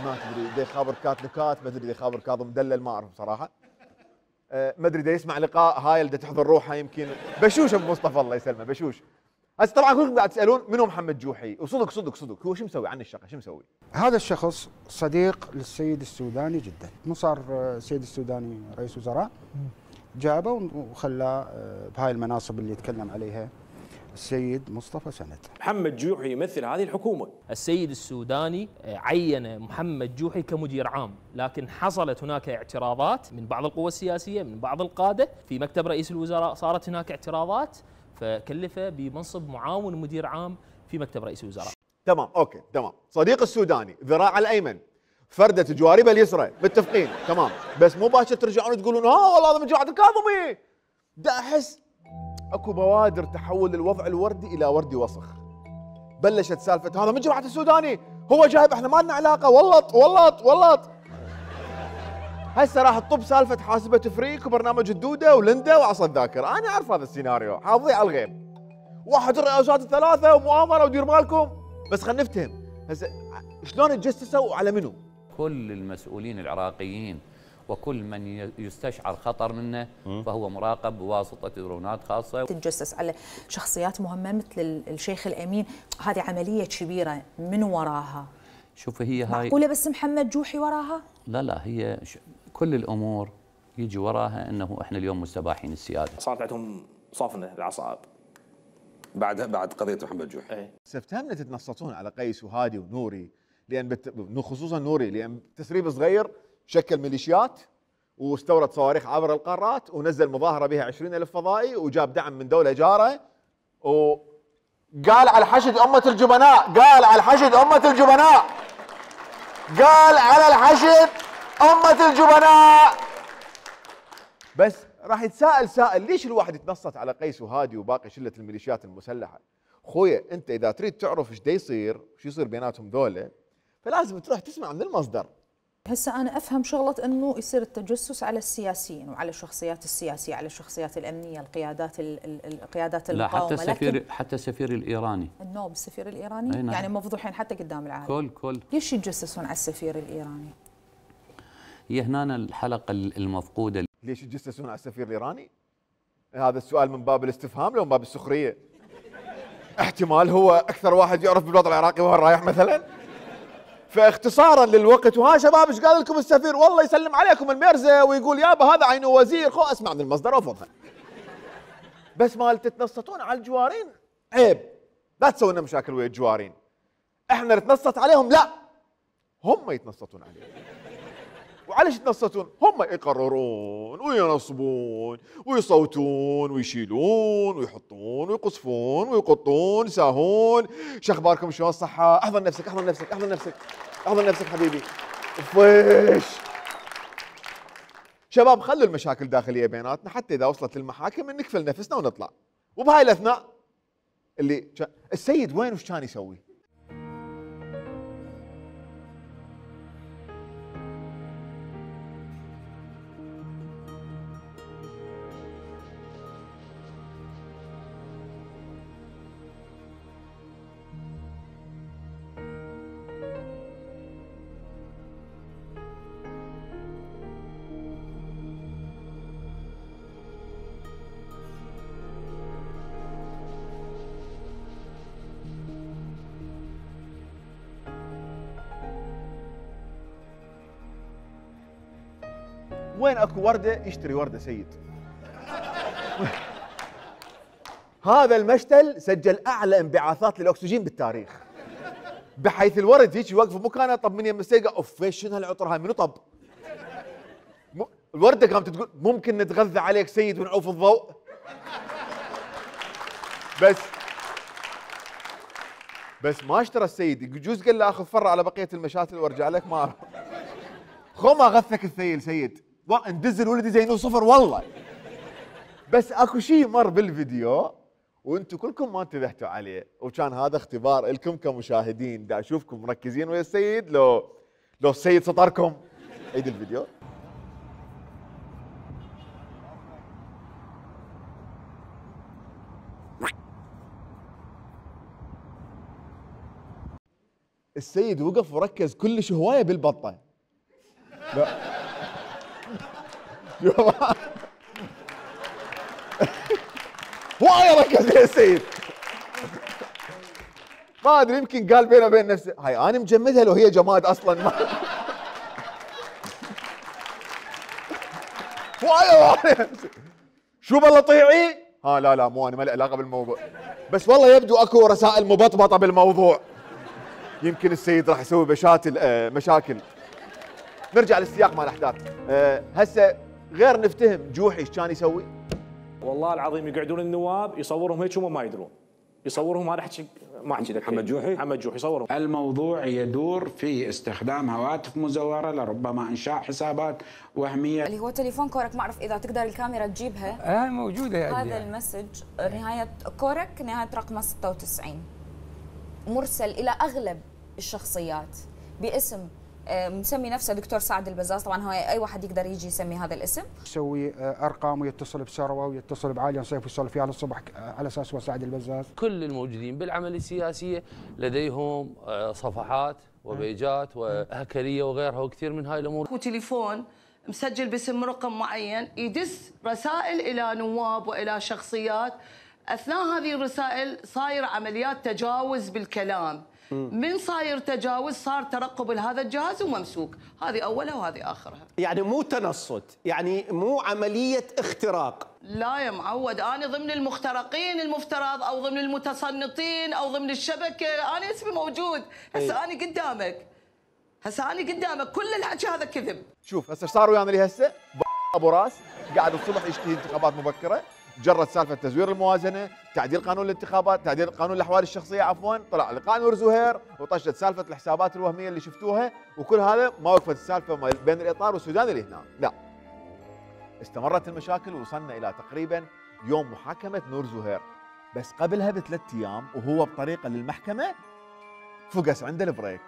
[SPEAKER 6] ما تدري دي خابر كات نكات، ما ادري دي خابر كاظم مدلل، ما اعرف بصراحه. ما ادري دي يسمع لقاء هايل دي تحضر روحه يمكن بشوش ابو مصطفى الله يسلمه بشوش. هسه طبعا كلكم قاعد تسالون منو محمد جوحي، وصدق صدق صدق هو شو مسوي عن الشقه شو مسوي؟
[SPEAKER 9] هذا الشخص صديق للسيد السوداني جدا، مو صار السيد السوداني رئيس وزراء جابه وخلاه بهاي المناصب اللي يتكلم عليها السيد مصطفى سند.
[SPEAKER 5] محمد جوحي يمثل هذه الحكومه.
[SPEAKER 12] السيد السوداني عين محمد جوحي كمدير عام، لكن حصلت هناك اعتراضات من بعض القوى السياسيه من بعض القاده في مكتب رئيس الوزراء، صارت هناك اعتراضات فكلفه بمنصب معاون مدير عام في مكتب رئيس الوزراء.
[SPEAKER 6] تمام اوكي تمام. صديق السوداني ذراع الايمن فردة جواربه اليسرى، متفقين تمام، بس مو باشر ترجعون تقولون ها والله هذا من جماعه الكاظمي. دا احس اكو بوادر تحول الوضع الوردي الى وردي وسخ. بلشت سالفه هذا من جماعه السوداني، هو جايب احنا ما لنا علاقه، ولط ولط ولط. هسه راح تطب سالفه حاسبه فريك وبرنامج الدوده ولندا وعصا الذاكره، انا اعرف هذا السيناريو، حافظيه على الغيب. واحد الرئاسات الثلاثه ومؤامره ودير بالكم، بس خلينا نفتهم هسه شلون تجسسوا وعلى منو؟
[SPEAKER 2] كل المسؤولين العراقيين وكل من يستشعر خطر منه فهو مراقب بواسطه درونات خاصه.
[SPEAKER 10] تتجسس على شخصيات مهمه مثل الشيخ الامين، هذه عمليه كبيره، من وراها؟
[SPEAKER 2] شوف هي هاي
[SPEAKER 10] معقوله بس محمد جوحي وراها؟
[SPEAKER 2] لا لا هي كل الامور يجي وراها انه احنا اليوم مستباحين السياده.
[SPEAKER 5] صارت عندهم صافنه العصائب بعد بعد قضيه محمد جوحي.
[SPEAKER 6] ايه سفتهم تتنصتون على قيس وهادي ونوري، لان بت... خصوصا نوري لان تسريب صغير شكل ميليشيات واستورد صواريخ عبر القارات ونزل مظاهره بها عشرين ألف فضائي وجاب دعم من دوله جاره وقال على الحشد امه الجبناء، قال على الحشد امه الجبناء، قال على الحشد امه الجبناء. بس راح يتساءل سائل ليش الواحد يتنصت على قيس وهادي وباقي شله الميليشيات المسلحه؟ خويا انت اذا تريد تعرف ايش دا يصير وش يصير بيناتهم ذولا فلازم تروح تسمع من المصدر.
[SPEAKER 10] هسه انا افهم شغله انه يصير التجسس على السياسيين وعلى الشخصيات السياسيه، على الشخصيات الامنيه، القيادات القيادات المقاومه.
[SPEAKER 2] لا حتى السفير حتى السفير الايراني.
[SPEAKER 10] النوب السفير الايراني
[SPEAKER 2] نعم.
[SPEAKER 10] يعني مفضوحين حتى قدام العالم.
[SPEAKER 2] كل كل
[SPEAKER 10] ليش يتجسسون على السفير الايراني؟
[SPEAKER 2] هي هنا الحلقه المفقوده.
[SPEAKER 6] ليش يتجسسون على السفير الايراني؟ هذا السؤال من باب الاستفهام لو من باب السخريه. احتمال هو اكثر واحد يعرف بالوضع العراقي وين رايح مثلا. فاختصارا للوقت، وها شباب ايش قال لكم السفير؟ والله يسلم عليكم الميرزا ويقول يابا هذا عينه وزير، خو اسمع من المصدر وافضها. بس مال تتنصتون على الجوارين عيب، لا تسوي لنا مشاكل ويا الجوارين. احنا نتنصت عليهم؟ لا، هم يتنصتون عليهم. وعليش يتنصتون؟ هم يقررون وينصبون ويصوتون ويشيلون ويحطون ويقصفون ويقطون يساهون. شو اخباركم؟ شلون الصحة؟ احضر نفسك احضر نفسك احضر نفسك احضر نفسك حبيبي. فيش شباب خلوا المشاكل داخلية بيناتنا حتى إذا وصلت للمحاكم نكفل نفسنا ونطلع. وبهاي الأثناء اللي السيد وين وش كان يسوي؟ وين اكو ورده يشتري ورده سيد. هذا المشتل سجل اعلى انبعاثات للاكسجين بالتاريخ، بحيث الورد هيك يوقف بمكانه. طب من يم السيقه اوف شنو هالعطر هاي منو طب؟ الورده قامت تقول ممكن نتغذى عليك سيد ونعوف الضوء. بس بس ما اشترى السيد، يجوز قال له اخذ فره على بقيه المشاتل وارجع لك ما اعرف. خو ما غثك الثيل سيد، ندز الولد يزينوه صفر والله. بس اكو شيء مر بالفيديو وانتم كلكم ما انتبهتوا عليه، وكان هذا اختبار لكم كمشاهدين، دا اشوفكم مركزين ويا السيد لو لو السيد سطركم. عيد الفيديو. السيد وقف وركز كلش هوايه بالبطه. لا هوايه ركز يا السيد. ما ادري يمكن قال بينه وبين نفسه هاي انا مجمدها لو هي جماد اصلا. ما هوايه شو بالله طيعي؟ ها لا لا مو انا ما لي علاقه بالموضوع، بس والله يبدو اكو رسائل مبطبطه بالموضوع. يمكن السيد راح يسوي بشاتل آه مشاكل. نرجع للسياق مال الاحداث. أه هسه غير نفتهم جوحي ايش كان يسوي؟
[SPEAKER 5] والله العظيم يقعدون النواب يصورهم هيك هم ما يدرون، يصورهم هذا احكي ما احكي لك
[SPEAKER 7] محمد جوحي
[SPEAKER 5] محمد جوحي يصورهم.
[SPEAKER 7] الموضوع يدور في استخدام هواتف مزوره لربما انشاء حسابات وهميه.
[SPEAKER 10] اللي هو تليفون كورك، ما اعرف اذا تقدر الكاميرا تجيبها.
[SPEAKER 7] اه موجوده يا
[SPEAKER 10] هذا المسج نهايه كورك نهايه رقمه ستة وتسعين، مرسل الى اغلب الشخصيات باسم
[SPEAKER 11] مسمي نفسه دكتور سعد البزاز، طبعا هو اي واحد يقدر يجي يسمي هذا الاسم،
[SPEAKER 9] يسوي ارقام ويتصل بثروه ويتصل بعالي نصيف ويصل فيها للصبح على اساس هو سعد البزاز.
[SPEAKER 13] كل الموجودين بالعمل السياسيه لديهم صفحات وبيجات وهكريه وغيرها وكثير من هاي الامور.
[SPEAKER 20] وتليفون مسجل باسم رقم معين يدس رسائل الى نواب والى شخصيات. اثناء هذه الرسائل صاير عمليات تجاوز بالكلام. من صاير تجاوز صار ترقب لهذا الجهاز وممسوك. هذه اولها وهذه اخرها.
[SPEAKER 14] يعني مو تنصت، يعني مو عمليه اختراق.
[SPEAKER 20] لا يا معود، انا ضمن المخترقين المفترض او ضمن المتصنطين او ضمن الشبكه، انا اسمي موجود. هسه انا قدامك، هسه انا قدامك، كل الحكي هذا كذب.
[SPEAKER 6] شوف هسه صار ويانا لي هسه ابو راس قاعد الصبح يشتهي انتخابات مبكره، جرد سالفه تزوير الموازنه، تعديل قانون الانتخابات، تعديل قانون الاحوال الشخصيه عفوا، طلع لقاء نور زهير وطشت سالفه الحسابات الوهميه اللي شفتوها، وكل هذا ما وقفت السالفه بين الاطار والسودان اللي هنا، لا. استمرت المشاكل ووصلنا الى تقريبا يوم محاكمه نور زهير، بس قبلها بثلاث ايام وهو بطريقه للمحكمه فقس عنده البريك.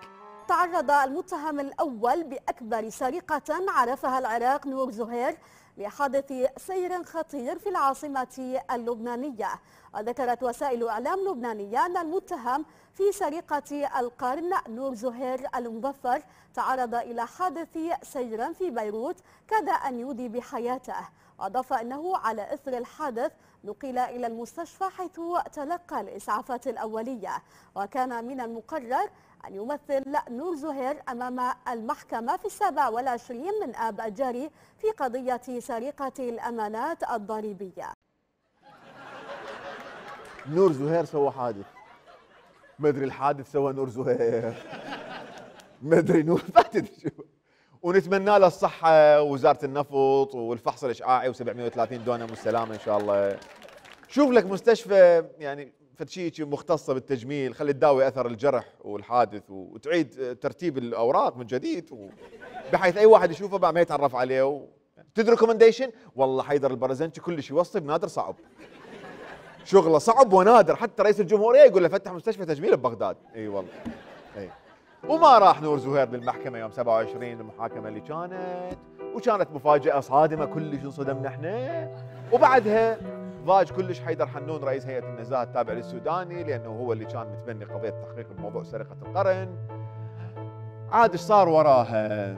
[SPEAKER 15] تعرض المتهم الأول بأكبر سرقة عرفها العراق نور زهير لحادث سير خطير في العاصمة اللبنانية. وذكرت وسائل إعلام لبنانية أن المتهم في سرقة القرن نور زهير المظفر تعرض إلى حادث سير في بيروت كاد أن يودي بحياته. وأضاف أنه على إثر الحادث نقل إلى المستشفى حيث تلقى الإسعافات الأولية. وكان من المقرر أن يمثل نور زهير أمام المحكمة في السابع والعشرين من آب الجاري في قضية سرقة الأمانات الضريبية.
[SPEAKER 6] نور زهير سوى حادث، ما ادري الحادث سوى نور زهير، ما ادري نور ما تدري شو. ونتمنى له الصحة ووزارة النفط والفحص الإشعاعي وسبعمئة وثلاثين دونم والسلامة إن شاء الله. شوف لك مستشفى يعني فتشيك مختصة بالتجميل، خلي تداوي أثر الجرح والحادث وتعيد ترتيب الأوراق من جديد بحيث أي واحد يشوفه بعد ما يتعرف عليه. و... تدري ريكومنديشن والله حيدر البرزنجي كلش يوصي بنادر صعب، شغله صعب ونادر، حتى رئيس الجمهورية يقول له فتح مستشفى تجميل ببغداد. اي والله اي. وما راح نور زهير للمحكمة يوم سبعة وعشرين المحاكمة اللي كانت، وكانت مفاجأة صادمة كلش انصدمنا احنا. وبعدها ضاج كلش حيدر حنون رئيس هيئة النزاهة التابع للسوداني لأنه هو اللي كان متبني قضية تحقيق بموضوع سرقة القرن. عاد ايش صار وراها؟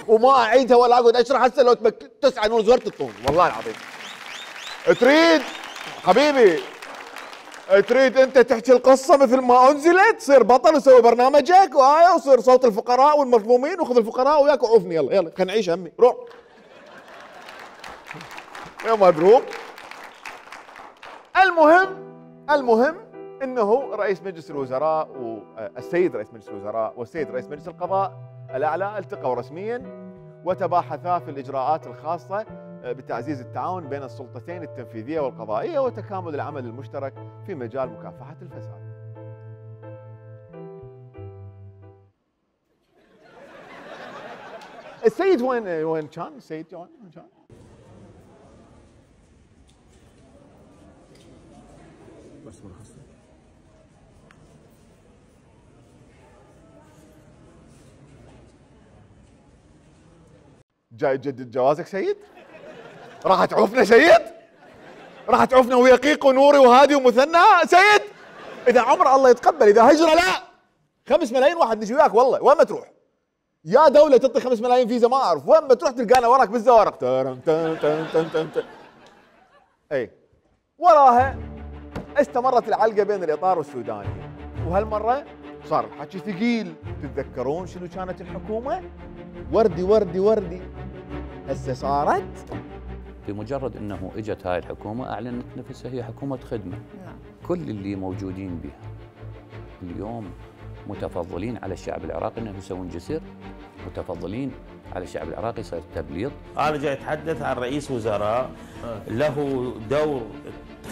[SPEAKER 6] وما اعيدها ولا اقعد اشرح هسه لو تبك تسعى نور زهير تطول والله العظيم. تريد حبيبي تريد انت تحكي القصه مثل ما انزلت، تصير بطل وسوي برنامجك وآية وصير صوت الفقراء والمظلومين وخذ الفقراء وياك وعوفني. يلا يلا خلينا نعيش همي روح يا مضروب. المهم المهم انه رئيس مجلس الوزراء والسيد رئيس مجلس الوزراء والسيد رئيس مجلس القضاء الاعلى التقوا رسميا وتباحثا في الاجراءات الخاصه بتعزيز التعاون بين السلطتين التنفيذيه والقضائيه وتكامل العمل المشترك في مجال مكافحه الفساد. السيد وين وين كان؟ السيد وين كان؟ بس مرخص. جاي تجدد جوازك سيد؟ راح تعوفنا سيد؟ راح تعوفنا ويا قيق ونوري وهادي ومثنى سيد؟ اذا عمر الله يتقبل، اذا هجره لا. خمس ملايين واحد نجي وياك والله، وين ما تروح؟ يا دولة تعطي خمس ملايين فيزا ما اعرف، وين ما تروح تلقانا وراك بالزوارق. تن تن تن تن تن تن. اي وراها استمرت العلقة بين الإطار والسوداني، وهالمرة صار الحكي ثقيل. تتذكرون شنو كانت الحكومة؟ وردي وردي وردي. هسه صارت
[SPEAKER 2] بمجرد انه اجت هاي الحكومة اعلنت نفسها هي حكومة خدمة.
[SPEAKER 11] نعم.
[SPEAKER 2] كل اللي موجودين بها اليوم متفضلين على الشعب العراقي انه يسوون جسر، متفضلين على الشعب العراقي يصير تبليط.
[SPEAKER 16] انا جاي اتحدث عن رئيس وزراء له دور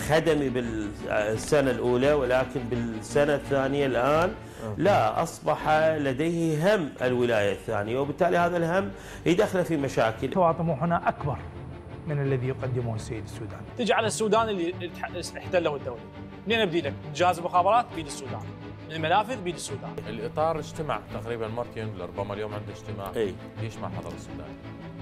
[SPEAKER 16] خدمي بالسنة الأولى، ولكن بالسنة الثانية الآن لا، أصبح لديه هم الولاية الثانية، وبالتالي هذا الهم يدخله في مشاكل.
[SPEAKER 17] طموحنا أكبر من الذي يقدمه السيد السوداني.
[SPEAKER 5] تجي على السودان اللي احتله الدولة، منين ابدي لك؟ جهاز المخابرات بيد السودان، المنافذ بيد السودان.
[SPEAKER 18] الاطار اجتمع تقريبا مرتين، ربما اليوم عنده اجتماع.
[SPEAKER 16] اي
[SPEAKER 18] ليش ما حضر السوداني؟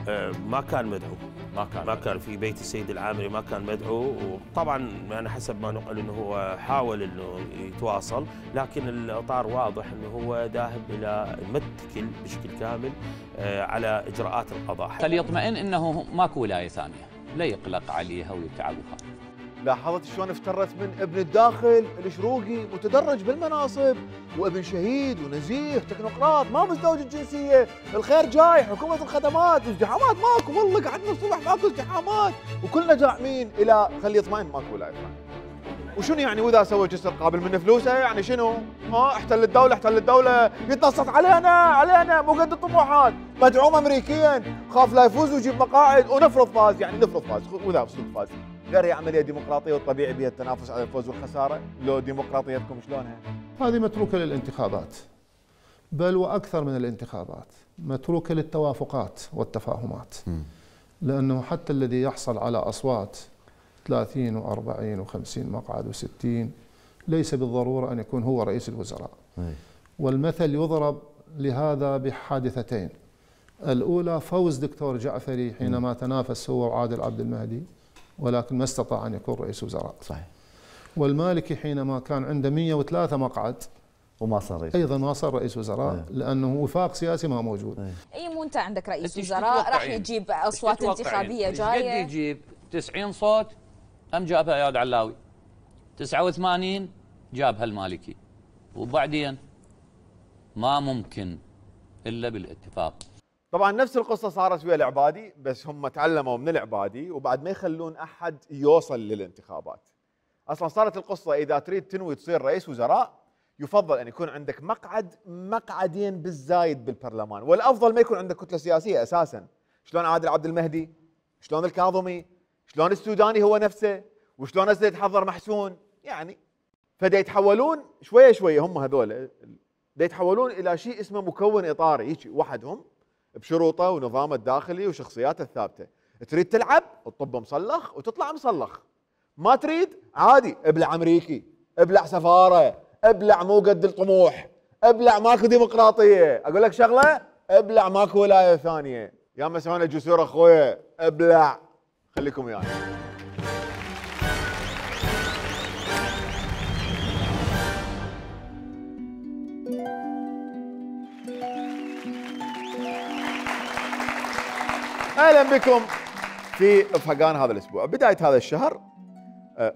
[SPEAKER 16] آه ما كان مدعو.
[SPEAKER 18] ما كان
[SPEAKER 16] ما مدعو. كان في بيت السيد العامري، ما كان مدعو، وطبعا انا حسب ما نقل انه هو حاول انه يتواصل، لكن الاطار واضح انه هو ذاهب الى متكل بشكل كامل آه على اجراءات القضاء.
[SPEAKER 2] فليطمئن انه ماكو ولايه ثانيه، لا يقلق عليها ويتعب وخاف.
[SPEAKER 6] لاحظت شلون افترت من ابن الداخل الشروقي متدرج بالمناصب، وابن شهيد ونزيه تكنوقراط ما مزدوج الجنسيه، الخير جاي، حكومه الخدمات، ازدحامات ماكو، والله قعدنا الصبح ماكو ازدحامات، وكلنا جاعمين الى خلي يطمئن ماكو ولايه ثانيه. وشنو يعني واذا سوى جسر قابل من فلوسه يعني شنو؟ ها احتل الدوله احتل الدوله يتنصت علينا علينا مو قد الطموحات، مدعوم امريكيا، خاف لا يفوز ويجيب مقاعد، ونفرض فاز يعني نفرض فاز واذا صدق فاز. غير هي عمليه ديمقراطيه والطبيعي بها التنافس على الفوز والخساره، لو ديمقراطيتكم شلونها؟
[SPEAKER 21] هذه متروكه للانتخابات، بل واكثر من الانتخابات، متروكه للتوافقات والتفاهمات. م. لانه حتى الذي يحصل على اصوات ثلاثين وأربعين وخمسين مقعد وستين ليس بالضروره ان يكون هو رئيس الوزراء. م. والمثل يضرب لهذا بحادثتين. الاولى فوز دكتور جعفري حينما م. تنافس هو وعادل عبد المهدي، ولكن ما استطاع أن يكون رئيس وزراء. صحيح. والمالكي حينما كان عنده مئة وثلاثة مقعد
[SPEAKER 23] وما صار رئيس
[SPEAKER 21] أيضا ما صار رئيس وزراء. أيه. لأنه وفاق سياسي ما موجود.
[SPEAKER 11] أيه. أي مو أنت عندك رئيس وزراء راح يجيب أصوات انتخابية جاية.
[SPEAKER 2] قد يجيب تسعين صوت أم جابها اياد علاوي، تسعة وثمانين جابها المالكي، وبعدين ما ممكن إلا بالاتفاق.
[SPEAKER 6] طبعا نفس القصه صارت ويا العبادي، بس هم تعلموا من العبادي وبعد ما يخلون احد يوصل للانتخابات. اصلا صارت القصه اذا تريد تنوي تصير رئيس وزراء يفضل ان يكون عندك مقعد مقعدين بالزايد بالبرلمان، والافضل ما يكون عندك كتله سياسيه اساسا. شلون عادل عبد المهدي، شلون الكاظمي، شلون السوداني هو نفسه، وشلون هسه يتحضر محسون، يعني فدا يتحولون شويه شويه هم هذول دا يتحولون الى شيء اسمه مكون اطاري، هيك وحدهم بشروطه ونظامه الداخلي وشخصياته الثابته. تريد تلعب تطب مصلخ وتطلع مصلخ، ما تريد عادي ابلع امريكي، ابلع سفاره، ابلع مو قد الطموح، ابلع ماكو ديمقراطيه. اقول لك شغله، ابلع ماكو ولايه ثانيه. يا مسعونه جسور اخويا ابلع، خليكم وياي. يعني. اهلا بكم في افهقان هذا الاسبوع. بدايه هذا الشهر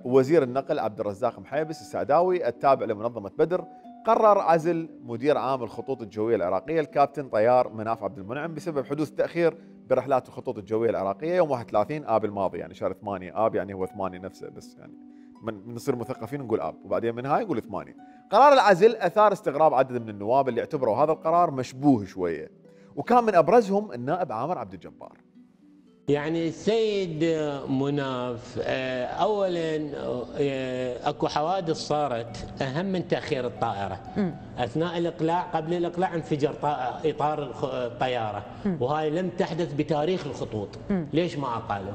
[SPEAKER 6] وزير النقل عبد الرزاق محيبس السعداوي التابع لمنظمه بدر قرر عزل مدير عام الخطوط الجويه العراقيه الكابتن طيار مناف عبد المنعم بسبب حدوث تاخير برحلات الخطوط الجويه العراقيه يوم واحد وثلاثين آب الماضي، يعني شهر ثمانية. آب يعني هو ثمانية نفسه، بس يعني من نصير مثقفين نقول آب وبعدين من هاي نقول ثمانية. قرار العزل اثار استغراب عدد من النواب اللي اعتبروا هذا القرار مشبوه شويه، وكان من ابرزهم النائب عامر عبد الجبار.
[SPEAKER 24] يعني السيد مناف اولا اكو حوادث صارت اهم من تاخير الطائره. م. اثناء الاقلاع، قبل الاقلاع انفجر اطار الطياره، م. وهاي لم تحدث بتاريخ الخطوط. م. ليش ما اقالوا؟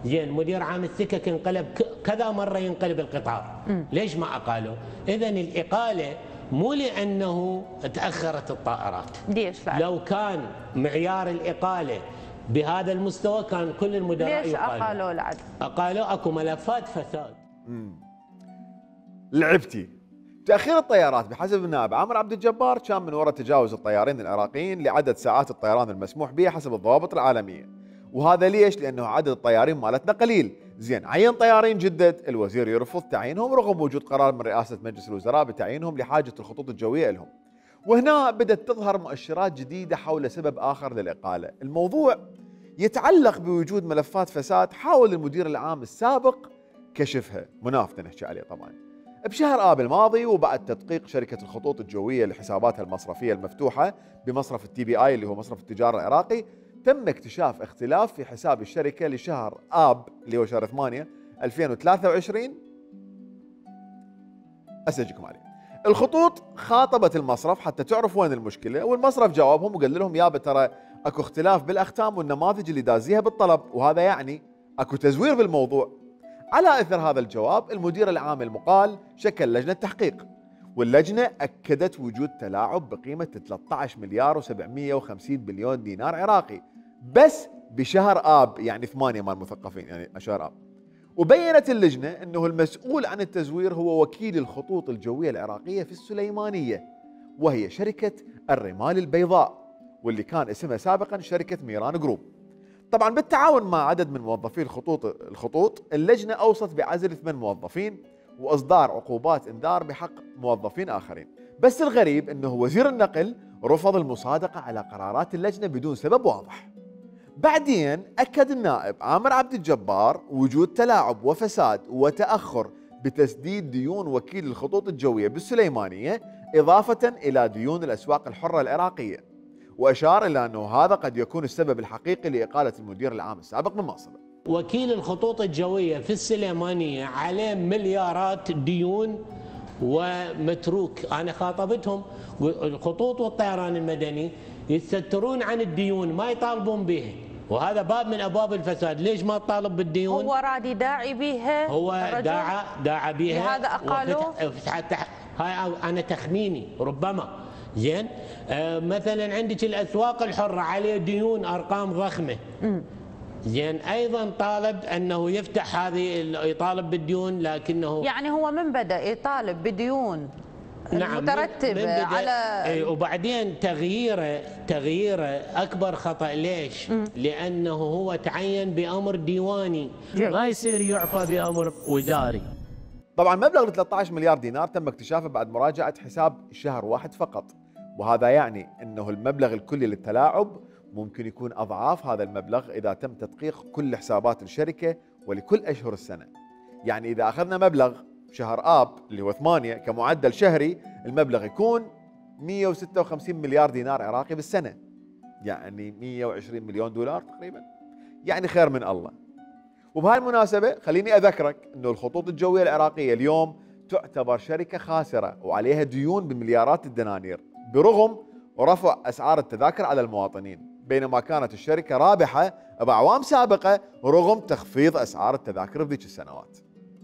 [SPEAKER 24] زين مدير عام السكك انقلب كذا مره ينقلب القطار، م. ليش ما اقالوا؟ اذا الاقاله مو لانه تاخرت الطائرات.
[SPEAKER 11] ليش لا؟
[SPEAKER 24] لو كان معيار الاقاله بهذا المستوى كان كل المدراء
[SPEAKER 11] ليش اقالوا العدل؟
[SPEAKER 24] اقالوا اكو ملفات فساد.
[SPEAKER 6] امم لعبتي. تاخير الطيارات بحسب النائب عامر عبد الجبار كان من وراء تجاوز الطيارين العراقيين لعدد ساعات الطيران المسموح بها حسب الضوابط العالميه. وهذا ليش؟ لانه عدد الطيارين مالتنا قليل. زين عين طيارين جدد، الوزير يرفض تعيينهم رغم وجود قرار من رئاسه مجلس الوزراء بتعيينهم لحاجه الخطوط الجويه لهم. وهنا بدأت تظهر مؤشرات جديدة حول سبب آخر للإقالة. الموضوع يتعلق بوجود ملفات فساد حاول المدير العام السابق كشفها، مناف نحكي عليه طبعا. بشهر آب الماضي وبعد تدقيق شركة الخطوط الجوية لحساباتها المصرفية المفتوحة بمصرف التي بي آي اللي هو مصرف التجارة العراقي، تم اكتشاف اختلاف في حساب الشركة لشهر آب اللي هو شهر ثمانية ألفين وثلاثة وعشرين اسجلكم عليه. الخطوط خاطبت المصرف حتى تعرف وين المشكله، والمصرف جاوبهم وقال لهم يابا ترى اكو اختلاف بالاختام والنماذج اللي دازيها بالطلب، وهذا يعني اكو تزوير بالموضوع. على اثر هذا الجواب المدير العام المقال شكل لجنه تحقيق، واللجنه اكدت وجود تلاعب بقيمه ثلاثة عشر مليار وسبعمئة وخمسين بليون دينار عراقي بس بشهر اب، يعني ثمانية مال المثقفين يعني شهر اب. وبينت اللجنه انه المسؤول عن التزوير هو وكيل الخطوط الجويه العراقيه في السليمانيه، وهي شركه الرمال البيضاء، واللي كان اسمها سابقا شركه ميران جروب. طبعا بالتعاون مع عدد من موظفي الخطوط الخطوط اللجنه اوصت بعزل ثمان موظفين واصدار عقوبات انذار بحق موظفين اخرين. بس الغريب انه وزير النقل رفض المصادقه على قرارات اللجنه بدون سبب واضح. بعدين اكد النائب عامر عبد الجبار وجود تلاعب وفساد وتاخر بتسديد ديون وكيل الخطوط الجويه بالسليمانيه اضافه الى ديون الاسواق الحره العراقيه، واشار الى انه هذا قد يكون السبب الحقيقي لاقاله المدير العام السابق من منصبه.
[SPEAKER 24] وكيل الخطوط الجويه في السليمانيه عليه مليارات ديون ومتروك، انا خاطبتهم الخطوط والطيران المدني يستترون عن الديون ما يطالبون بها، وهذا باب من ابواب الفساد. ليش ما تطالب بالديون؟
[SPEAKER 1] هو راد يداعي بها،
[SPEAKER 24] هو داعى داعى بها،
[SPEAKER 1] لهذا اقالوه.
[SPEAKER 24] هاي انا تخميني ربما. زين آه مثلا عندك الاسواق الحره عليه ديون ارقام ضخمه. م. زين ايضا طالب انه يفتح هذه يطالب بالديون، لكنه
[SPEAKER 1] يعني هو من بدا يطالب بديون
[SPEAKER 24] نعم
[SPEAKER 1] مترتبه على
[SPEAKER 24] وبعدين تغييره تغييره اكبر خطا. ليش؟ م. لانه هو تعين بامر ديواني، ما يصير يعفى بامر وزاري.
[SPEAKER 6] طبعا مبلغ ثلاثة عشر مليار دينار تم اكتشافه بعد مراجعه حساب شهر واحد فقط، وهذا يعني انه المبلغ الكلي للتلاعب ممكن يكون اضعاف هذا المبلغ اذا تم تدقيق كل حسابات الشركه ولكل اشهر السنه. يعني اذا اخذنا مبلغ شهر اب اللي هو ثمانية كمعدل شهري، المبلغ يكون مئة وستة وخمسين مليار دينار عراقي بالسنه، يعني مئة وعشرين مليون دولار تقريبا، يعني خير من الله. وبهاي المناسبه خليني اذكرك انه الخطوط الجويه العراقيه اليوم تعتبر شركه خاسره وعليها ديون بمليارات الدنانير برغم رفع اسعار التذاكر على المواطنين، بينما كانت الشركه رابحه باعوام سابقه رغم تخفيض اسعار التذاكر بذيك السنوات.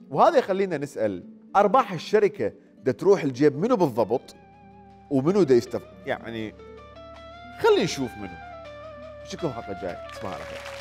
[SPEAKER 6] وهذا يخلينا نسال ارباح الشركه دا تروح الجيب منو بالضبط ومنو دا يستف يعني خلينا نشوف منو. اشوفكم الحلقه الجايه، تصبحوا على خير.